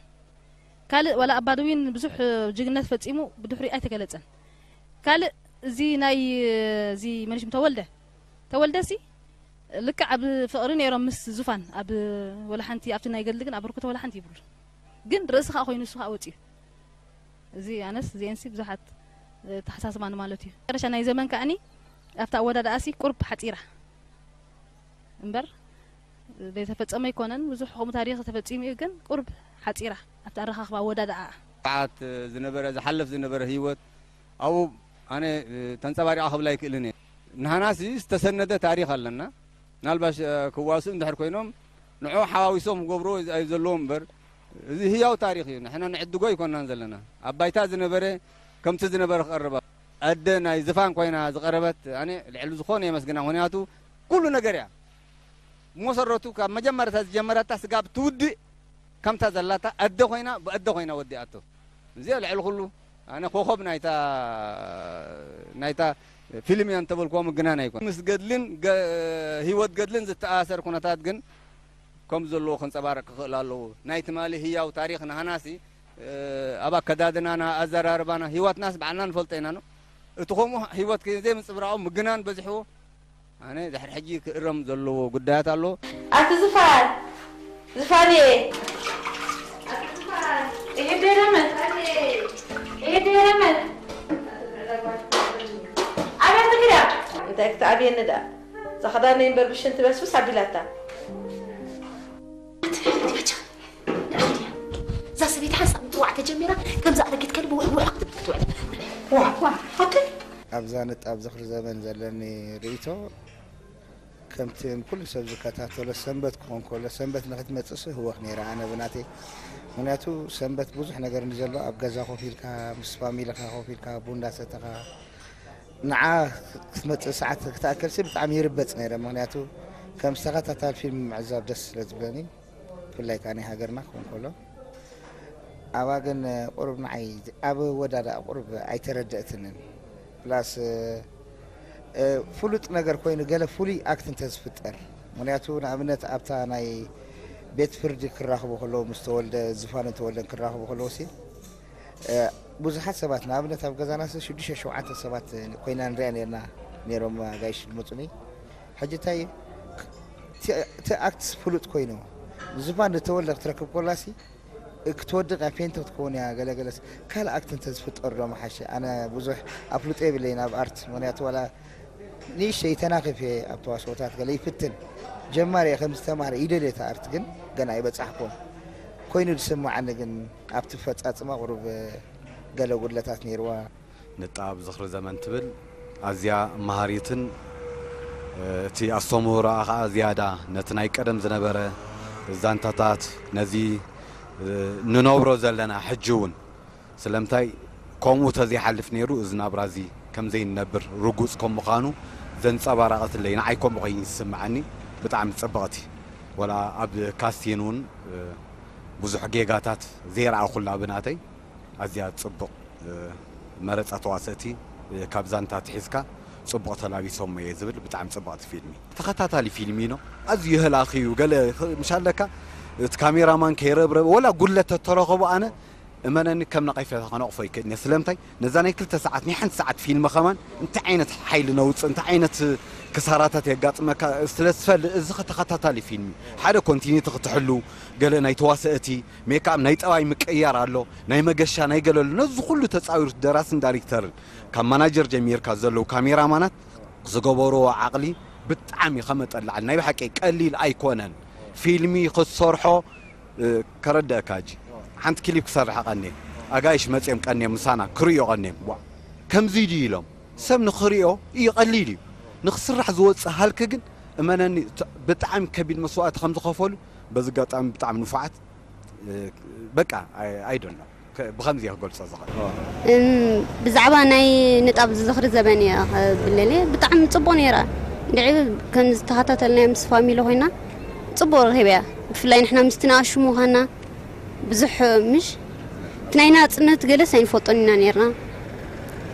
ካልእ ዋላ ኣባድዊን ብዙሕ ጅግነት ፈፂሙ ብድሕሪኡ ኣይተገለፀን። ካልእ እዚ ናይ እዚ መን ሽሙ ተወልደ ተወልደሲ ልክዕ ኣብ ፍቕሪ ነይሮም ምስ ዙፋን ኣብ ወላ ሓንቲ ኣብቲ ናይ ገድሊ ግን ኣበርክቶ ወላ ሓንቲ ይብሉ። ግን ርእሲ ከዓ ኮይኑ እሱ ከዓ ወፂኡ። እዚ ኣነስ እዚኤንሲ ብዙሓት ተሓሳስባኒ ማለት እዩ። መጨረሻ ናይ ዘመን ከኣኒ ኣብታ ኣወዳድኣሲ ቁርብ ሓፂራ እምበር ዘይተፈጸመ ኣይኮነን። ብዙሕ ከምኡ ታሪኽ ተፈጺሙ እዩ፣ ግን ቁርብ ሓፂራ ኣብቲ ኣረኻኽባ ኣወዳድኣኣ። ሰዓት ዝነበረ ዝሓልፍ ዝነበረ ህይወት ኣብኡ ኣነ ተንጸባሪቓ ክብላ ኣይክእልን እየ። ንሃናሲ ዝተሰነደ ታሪኽ ኣለና። ምናልባሽ ክዋስኡ እንድሕር ኮይኖም ንዑ ሓዋዊሶም ክገብርዎ እዩ ዘለዎም እምበር እዚ ህያው ታሪኽ እዩ። ንሕና ንዕድጎ ኣይኮንናን ዘለና። ኣብ ባይታ ዝነበረ ከምቲ ዝነበረ ክቐርብ ኣደ ናይ ዝፋን ኮይና ዝቐረበት ኣነ ልዕሊ ዝኾነ የመስግና። ምኽንያቱ ኩሉ ነገር እያ ብመሰረቱ ካብ መጀመርታ ዝጀመረታ ስጋብ ትውድእ ከምታ ዘላታ ኣደ ኮይና ብኣደ ኮይና ወዲኣቶ። እዚኣ ልዕሊ ኩሉ ኣነ ኮኸብ ናይታ ናይታ ፊልም እያ እንተበልክዎ ምግናን ኣይኮን። ምስ ገድልን ገ- ህይወት ገድልን ዝተኣሳሰር ኩነታት ግን ከም ዘለዎ ከንጸባርቕ ክኽእል ኣለዎ። ናይ ትማሊ ህያው ታሪኽ ንሃናሲ ኣብ ኣከዳድናና ኣዘራርባና ህይወትናስ ባዕልና ንፈልጦ ኢና ነው። እቲ ከምኡ ህይወት ዘይምንጽብራቑ ምግናን በዚሕዎ ኣነ ድሕሪ ሕጂ ክእረም ዘለዎ ጉዳያት ኣሎ። ኣቲ ዝፋን ዝፋንየ ይሄ ደረመት ይሄ ደረመት ኣበያ ትግዳ እንታይ ክትኣብየኒ ደኣ እዛ ክዳነይ እምበር ብሽንቲ በስብስ ኣቢላታ። እዛ ሰበይቲ ሓንሳብ ምጥዋዕ ተጀሚራ ከምዛ ኣረጊት ከልቢ ውሕ ውሕ ክትብል ክትውዕል። ዋ፣ ዋ፣ ሓቂ። ኣብዛ ንጣብ ዝኽሪ ዘመን ዘለኒ ርእይቶ ከምቲ ንኩሉ ሰብ ዝከታተሎ ሰንበት ክኾን ከሎ ሰንበት ንክትመፅእ ስህወኽ ነይረ ኣነ ብናተይ። ምክንያቱ ሰንበት ብዙሕ ነገር ንዘሎ ኣብ ገዛ ኮፍ ኢልካ ምስ ፋሚሊኻ ኮፍ ኢልካ ቡን እንዳሰተኻ ንዓ ክትመፅእ ሰዓት ክትኣከልሲ ብጣዕሚ ይርበፅ ነይረ። ምክንያቱ ከም ዝተኸታታል ፊልም ምዕዛብ ደስ ስለ ዝብለኒ ብፍላይ ከዓ ናይ ሃገርና ክኾን ከሎ ኣባ ግን ቁሩብ ንዓይ ኣብ ወዳዳ ቁሩብ ኣይተረደእትንን ፕላስ ፍሉጥ ነገር ኮይኑ ገለ ፍሉይ ኣክት እንተዝፍጠር ምክንያቱ ንኣብነት ኣብታ ናይ ቤት ፍርዲ ክራኽቡ ከለዉ ምስ ተወልደ ዝፋንን ተወልደን ክራኽቡ ከለዉ ሲ ብዙሓት ሰባት ንኣብነት ኣብ ገዛና ሲ ሽዱሽተ ሸውዓተ ሰባት ኮይና ንሪኣ ነርና ነይሮም ኣጋይሽ ዝመፁኒ ሕጂ እንታይ እቲ ኣክትስ ፍሉጥ ኮይኑ ዝፋን ዝተወልደ ክትረክብ ከላ ሲ ክትወድቕ እያ ፌንት ክትከውን እያ ገለገለስ ካልእ ኣክት እንተዝፍጠር ዶ መሓሸ ኣነ ብዙሕ ኣፍልጦ የብለይን ኣብ ኣርት ምክንያቱ ዋላ ንእሽተይ ተናኺፈ ኣብ ተዋስኦታት ገለ ይፍትን ጀማሪ እየ ከምዚ ተማሃረ ይደልየ እቲ ኣርት ግን ገና ኣይበጻሕኩን ኮይኑ ዝስምዓኒ ግን ኣብቲ ፈጻጽማ ቁሩብ ገለ ጉድለታት ነይርዋ። ንጣብ ዝኽሪ ዘመን ትብል ኣዝያ መሃሪትን እቲ ኣስተምህሮኣ ኸዓ ዝያዳ ነቲ ናይ ቀደም ዝነበረ ዛንታታት ነዚ ንነብሮ ዘለና ሕጂ እውን ስለምንታይ ከምኡ ተዘይሓልፍ ነይሩ እዚ ናብራ እዚ ከም ዘይንነብር ርጉፅ ከም ምዃኑ ዘንፀባረቐትለይ ንዓይ ከምኡ ኮይኑ ዝስምዓኒ ብጣዕሚ ፅብቕቲ ወላ ኣብ ካስቲን እውን ብዙሕ ጌጋታት ዘይረኣኹላ ብናተይ ኣዝያ ፅቡቕ መረፃ ተዋሰእቲ ካብ ዛንታ ኣትሒዝካ ፅቡቕ ተላቢሶሞ እየ ዝብል ብጣዕሚ ፅብቕቲ ፊልሚ ተኸታታሊ ፊልሚ ኢኖ ኣዝዩ ህላኺ እዩ ገለ ምሽ ኣለካ እቲ ካሜራማን ከይረብረበ ወላ ጉድለት ተተረኸቡ ኣነ እመነኒ፣ ከም ነቐፌታ ከነቕፎ ይክእልን እየ። ስለምንታይ? ነዛ ናይ ክልተ ሰዓት፣ ናይ ሓንቲ ሰዓት ፊልም ከማን እንታይ ዓይነት ሓይሊ ነውፅእ፣ እንታይ ዓይነት ክሳራታት የጋጥመካ ስለ ዝፈልጥ፣ እዚ ተኸታታሊ ፊልም እዩ። ሓደ ኮንቲኒቲ ክትሕሉ፣ ገለ ናይ ተዋሰእቲ፣ ሜክኣፕ፣ ናይ ጠባይ ምቅያር ኣሎ፣ ናይ መገሻ፣ ናይ ገለ ኣሎ። ነዚ ኩሉ ተፃዊሩ ደራስን ዳይሬክተርን፣ ካብ ማናጀር ጀሚርካ ዘለዉ ካሜራማናት ዝገበርዎ ዓቕሊ ብጣዕሚ ከመጠላዕል ናይ ብሓቂ ቀሊል ኣይኮነን። ፊልሚ ክትሰርሖ፣ እ፣ ከረድአካ ሕጂ። ሓንቲ ክሊፕ ክሰርሕ ቀንየ። ኣጋይሽ መጽዮም ቀንዮም ምሳና ክርእዮ ቀንዮም። ዋ፣ ከምዚ ድዩ ኢሎም። ሰብ ንኽርእዮ እዩ ቀሊል እዩ። ንኽስራሕ ዝወጽእ ሃልኪ ግን እመነኒ፣ ት-፣ ብጣዕሚ ከቢድ መስዋእቲ ከም ዝኸፈሉ በዚ ኣጋጣሚ ብጣዕሚ ንፉዓት፣ እ፣ በቃ፣ ኣይ፣ ኣይ ዶንት ኖ። ከ-፣ ብኸምዚ እየ ክገልጾ ዝኽእል። እም፣ ብዛዕባ ናይ ንጣብ ዝኽሪ ዘበን እየ ክብለለ፣ ብጣዕሚ ጽቡቕ ነይራ። እንድዒ ከም ዝተኸታተልናዮ ምስ ፋሚሊ ኮይና ጽቡቕ ረኺበያ። ብፍላይ ንሕና ምስቲ ንኣሹ ምዃንና ብዙሕ ምሽ እቲ ናይ ናጽነት ገለስ ኣይንፈልጦን ኢና ነይርና።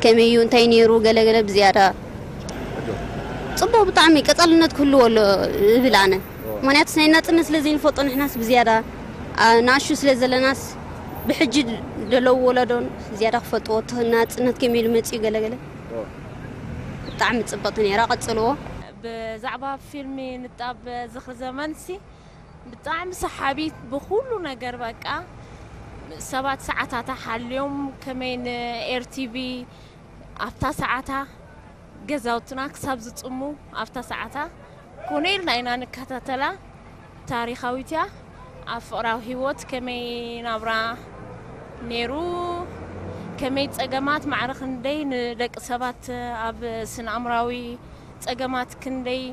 ከመይ እዩ፣ እንታይ ነይሩ፣ ገለ ገለ ብዝያዳ ጽቡቕ፣ ብጣዕሚ ቀጻልነት ክህልዎ ኣሎ እብል ኣነ። ምኽንያቱስ ናይ ናጽነት ስለ ዘይንፈልጦ ንሕናስ ብዝያዳ፣ ኣ፣ ንኣሹ ስለ ዘለናስ ብሕጂ ዘለዉ ወለዶን ዝያዳ ክፈልጥዎ እቲ ናጽነት ከመይ ኢሉ መጺኡ ገለ ገለ ብጣዕሚ ጽብቕቲ ነይራ። ቀጽልዎ። ብዛዕባ ፊልም ንጣብ ዝኽሪ ዘመንሲ ብጣዕሚ ሰሓቢት ብኹሉ ነገር በቃ ሰባት ሰዓታታ ሓልዮም ከመይ ንኤርቲቪ ኣብታ ሰዓታ ገዛውትና ክሳብ ዝጽሙ ኣብታ ሰዓታ ኮነ ኢልና ኢና ንከታተላ። ታሪኻዊት እያ። ኣብ ፍቕራዊ ህይወት ከመይ ናብራ ነይሩ፣ ከመይ ጸገማት ማዕረ ክንደይ ንደቂ ሰባት ኣብ ስነ ኣእምራዊ ጸገማት ክንደይ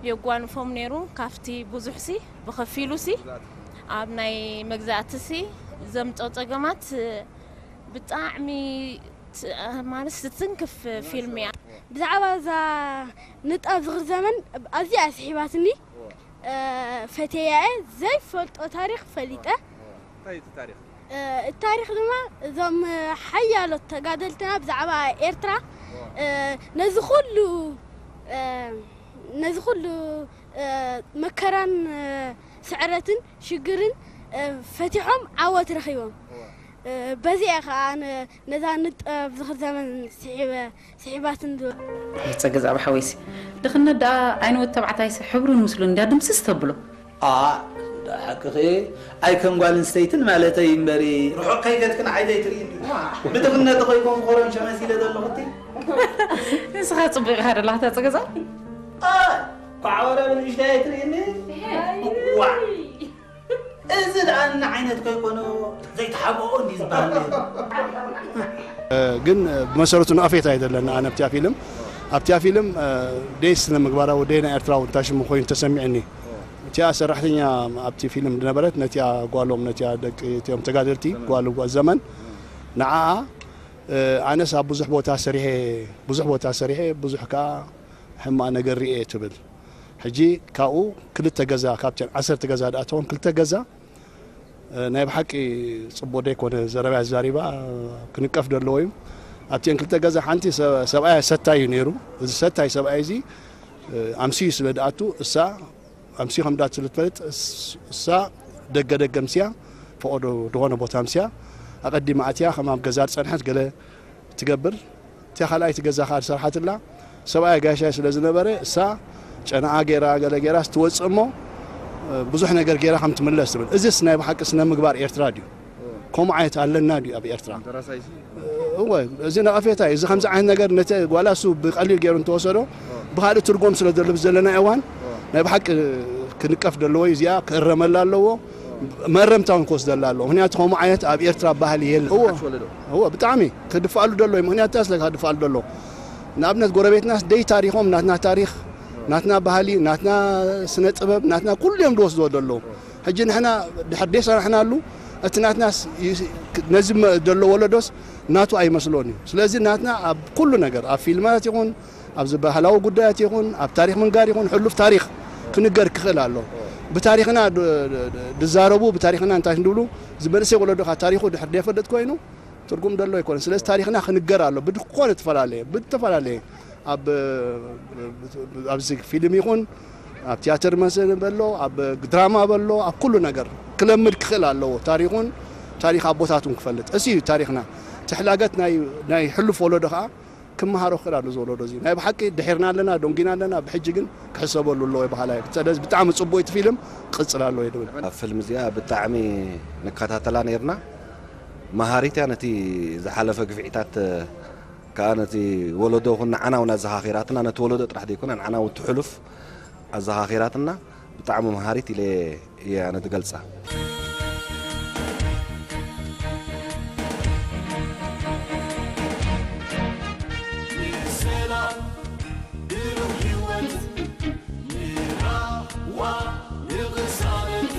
የጓንፎም ነይሩ። ካብቲ ብዙሕሲ ብኸፊሉሲ ኣብ ናይ መግዛእትሲ ዘምጾ ጸገማት ብጣዕሚ ት-፣ ማለት ስትንክፍ ፊልም እያ። ብዛዕባ እዛ ንጣብ ዝኽሪ ዘመን ኣዝያ እያ ስሒባትኒ። እ፣ ፈትየያ እየ። ዘይፈልጦ ታሪኽ ፈሊጠ። እንታይ እዩ እቲ ታሪኽ? እ፣ እቲ ታሪኽ ድማ እዞም ሓያሎ ተጋደልትና ብዛዕባ ኤርትራ፣ እ፣ ነዚ ኩሉ፣ እ፣ ነዚ ኩሉ፣ እ፣ መከራን፣ እ፣ ስዕረትን ሽግርን፣ እ፣ ፈቲሖም ዓወት ረኺቦም። እ፣ በዚ እየ ኸዓ ኣነ ነዛ ንጣብ ዝኽሪ ዘመን ስሒበ-፣ ስሒባትን ዝብል። ኣይ ጸገ ዛዕባ ሓወይሲ፣ ድኽነት ደኣ ዓይኒ ወዲ ተባዕታይሲ ሕብሩን ምስሉን እንድያ ድምስስ ተብሎ። ኣ፣ ሓቅኺ፣ ኣይ ከም ጓል ኣንስተይትን ማለተይ እምበሪ፣ ርሑቕ ከይከድክን ዓይነይ ትርኢ እንዲ። ብድኽነት ኾይኮም ኮረንሸ መሲለ ዘለኹ እቲ። ንስኻ ጽቡቕ ኢኻ ደለኻ፣ እታ ጸገ ዛ። ኣ፣ ኳዕ ወረ ብንእሽተይ ኣይትርእኒ። ዋ። እዚ ደኣ ንዓይነት ከይኮነ ዘይተሓብኦ እንዲ ዝበሃል ነይሩ። ግን ብመሰረቱ ነቐፌታ ኣይደለን ኣነ ኣብቲያ ፊልም። ኣብቲያ ፊልም፣ እ፣ ደይ ስነ ምግባራዊ፣ ደይ ናይ ኤርትራዊ እንታይ ሽሙ ኮይኑ ተሰሚዕኒ። እቲያ ሰራሕተኛ ኣብቲ ፊልም ዝነበረት ነቲያ ጓሎም፣ ነቲያ ደቂ እቲኦም ተጋደልቲ ጓል ጓል ዘመን ንዓኣ፣ እ፣ ኣነስ ኣብ ብዙሕ ቦታ ሰሪሐ፣ ብዙሕ ቦታ ሰሪሐ፣ ብዙሕ ከኣ ሕማቕ ነገር ርእየ ትብል። ሕጂ ካብኡ ክልተ ገዛ፣ ካብተን ዓሰርተ ገዛ ደኣ ትኾን ክልተ ገዛ፣ እ፣ ናይ ብሓቂ ጽቡቕ ደይኮነ ዘረባ እያ ተዛሪባ፣ ክንቀፍ ዘለዎ እዩ። ኣብተን ክልተ ገዛ ሓንቲ ሰ-፣ ሰብኣያ ሰታይ እዩ ነይሩ። እዚ ሰታይ ሰብኣይ እዚ፣ እ፣ ኣምስዩ ስለ ደኣቱ እሳ ኣምስዩ ከም ደኣቱ ስለ ትፈልጥ እስ-፣ እሳ ደገ ደገ ኣምስያ፣ ፈቐዶ ዝኾነ ቦታ ኣምስያ፣ ኣቐዲማ ኣትያ ከም ኣብ ገዛ ዝጸንሐት ገለ ትገብር። እቲያ ካልኣይቲ ገዛ ከኣ ዝሰርሓትላ ሰብኣያ ጋሻይ ስለ ዝነበረ እሳ ጨናኣ ገይራ ገለ ገይራ ስትወጽእ እሞ፣ እ፣ ብዙሕ ነገር ገይራ ከም ትምለስ ትብል። እዚስ ናይ ብሓቂ ስነ ምግባር ኤርትራ ድዩ? ከምኡ ዓይነት ኣለና ድዩ ኣብ ኤርትራ? ደራሳይሲ? እወ፣ እዚ ነቐፌታ እዩ። እዚ ከምዚ ዓይነት ነገር ነቲ ጓላ እሱ ብቐሊል ገይሩ እንተወሰዶ፣ ብኻልእ ትርጉም ስለ ዘሎ ብዘለና እዋን፣ ናይ ብሓቂ ክንቀፍ ዘለዎ እዩ። እዚኣ ክእረመላ ኣለዎ። መእረምታ እውን ክወስደላ ኣለዎ። ምኽንያቱ ከምኡ ዓይነት ኣብ ኤርትራ ባህሊ የለን። እወ። ሓሽ ወለዶ። እወ፣ ብጣዕሚ ክድፋኣሉ ደሎ እዩ። ምኽንያቱ እንታይ ስለካ ክድፋኣሉ ደሎ? ንኣብነት ጎረቤትናስ ደይ ታሪኾም ናትና ታሪኽ፣ ናትና ባህሊ፣ ናትና ስነ ጥበብ፣ ናትና ኩሉ እዮም ዝወስድዎ ደለዉ። ሕጂ ንሕና ድሕር ደይ ሰራሕናሉ፣ እቲ ናትናስ ይ-፣ ነዚ መ-፣ ደሎ ወለዶስ ናቱ ኣይመስሎን እዩ። ስለዚ ናትና ኣብ ኩሉ ነገር፣ ኣብ ፊልማት ይኹን፣ ኣብዚ ባህላዊ ጉዳያት ይኹን፣ ኣብ ታሪኽ ምንጋር ይኹን፣ ሕሉፍ ታሪኽ ክንገር ክኽእል ኣሎ። ብታሪኽና ድ-፣ ድ-፣ ድ-፣ ድዛረቡ፣ ብታሪኽና እንታይ እንድብሉ፣ እዚ መንእሰይ ወለዶ ኸኣ ታሪኹ ድሕር ደይፈልጥ ኮይኑ፣ ትርጉም ደሎ ኣይኮነን። ስለዚ ታሪኽና ክንገር ኣሎ። ብድኾነ ተፈላለየ፣ ብተፈላለየ፣ ኣብ፣ ኣብዚ ፊልም ይኹን፣ ኣብ ቲያትር መስል በሎ፣ ኣብ ድራማ በሎ፣ ኣብ ኩሉ ነገር ክለምድ ክኽእል ኣለዎ። ታሪኹን ታሪኽ ኣቦታቱን ክፈልጥ፣ እዚ እዩ ታሪኽና። ትሕላገት ናይ፣ ናይ ሕሉፍ ወለዶ ኸዓ ክመሃሮ ክኽእል ኣሎ። እዚ ወለዶ እዚ ናይ ብሓቂ ድሒርና ኣለና፣ ዶንጊና ኣለና። ብሕጂ ግን ክሕሰበሉ ኣለዎ ይበሃላ እዩ። ስለዚ ብጣዕሚ ጽቡቅ እቲ ፊልም፣ ቅጽል ኣለዎ እየ ድብል። ኣብ ፊልም እዚኣ ብጣዕሚ ንከታተላ ነይርና። መሃሪት እያ። ነቲ ዝሓለፈ ግፍዒታት ከዓ ነቲ ወለዶ ኹን ንዓና እውን ኣዘኻኺራትና፣ ነቲ ወለዶ ጥራሕ ዘይኮነ ንዓና እውን ትሕሉፍ ኣዘኻኺራትና። ብጣዕሚ መሃሪት ኢለ እየ ኣነ ዝገልጻ። ንሰላም ብሩህ ህይወት፣ ንራህዋ፣ ንቕሳነት፣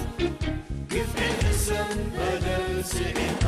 ግፍዒ ሕሰም በደል ስዒት፣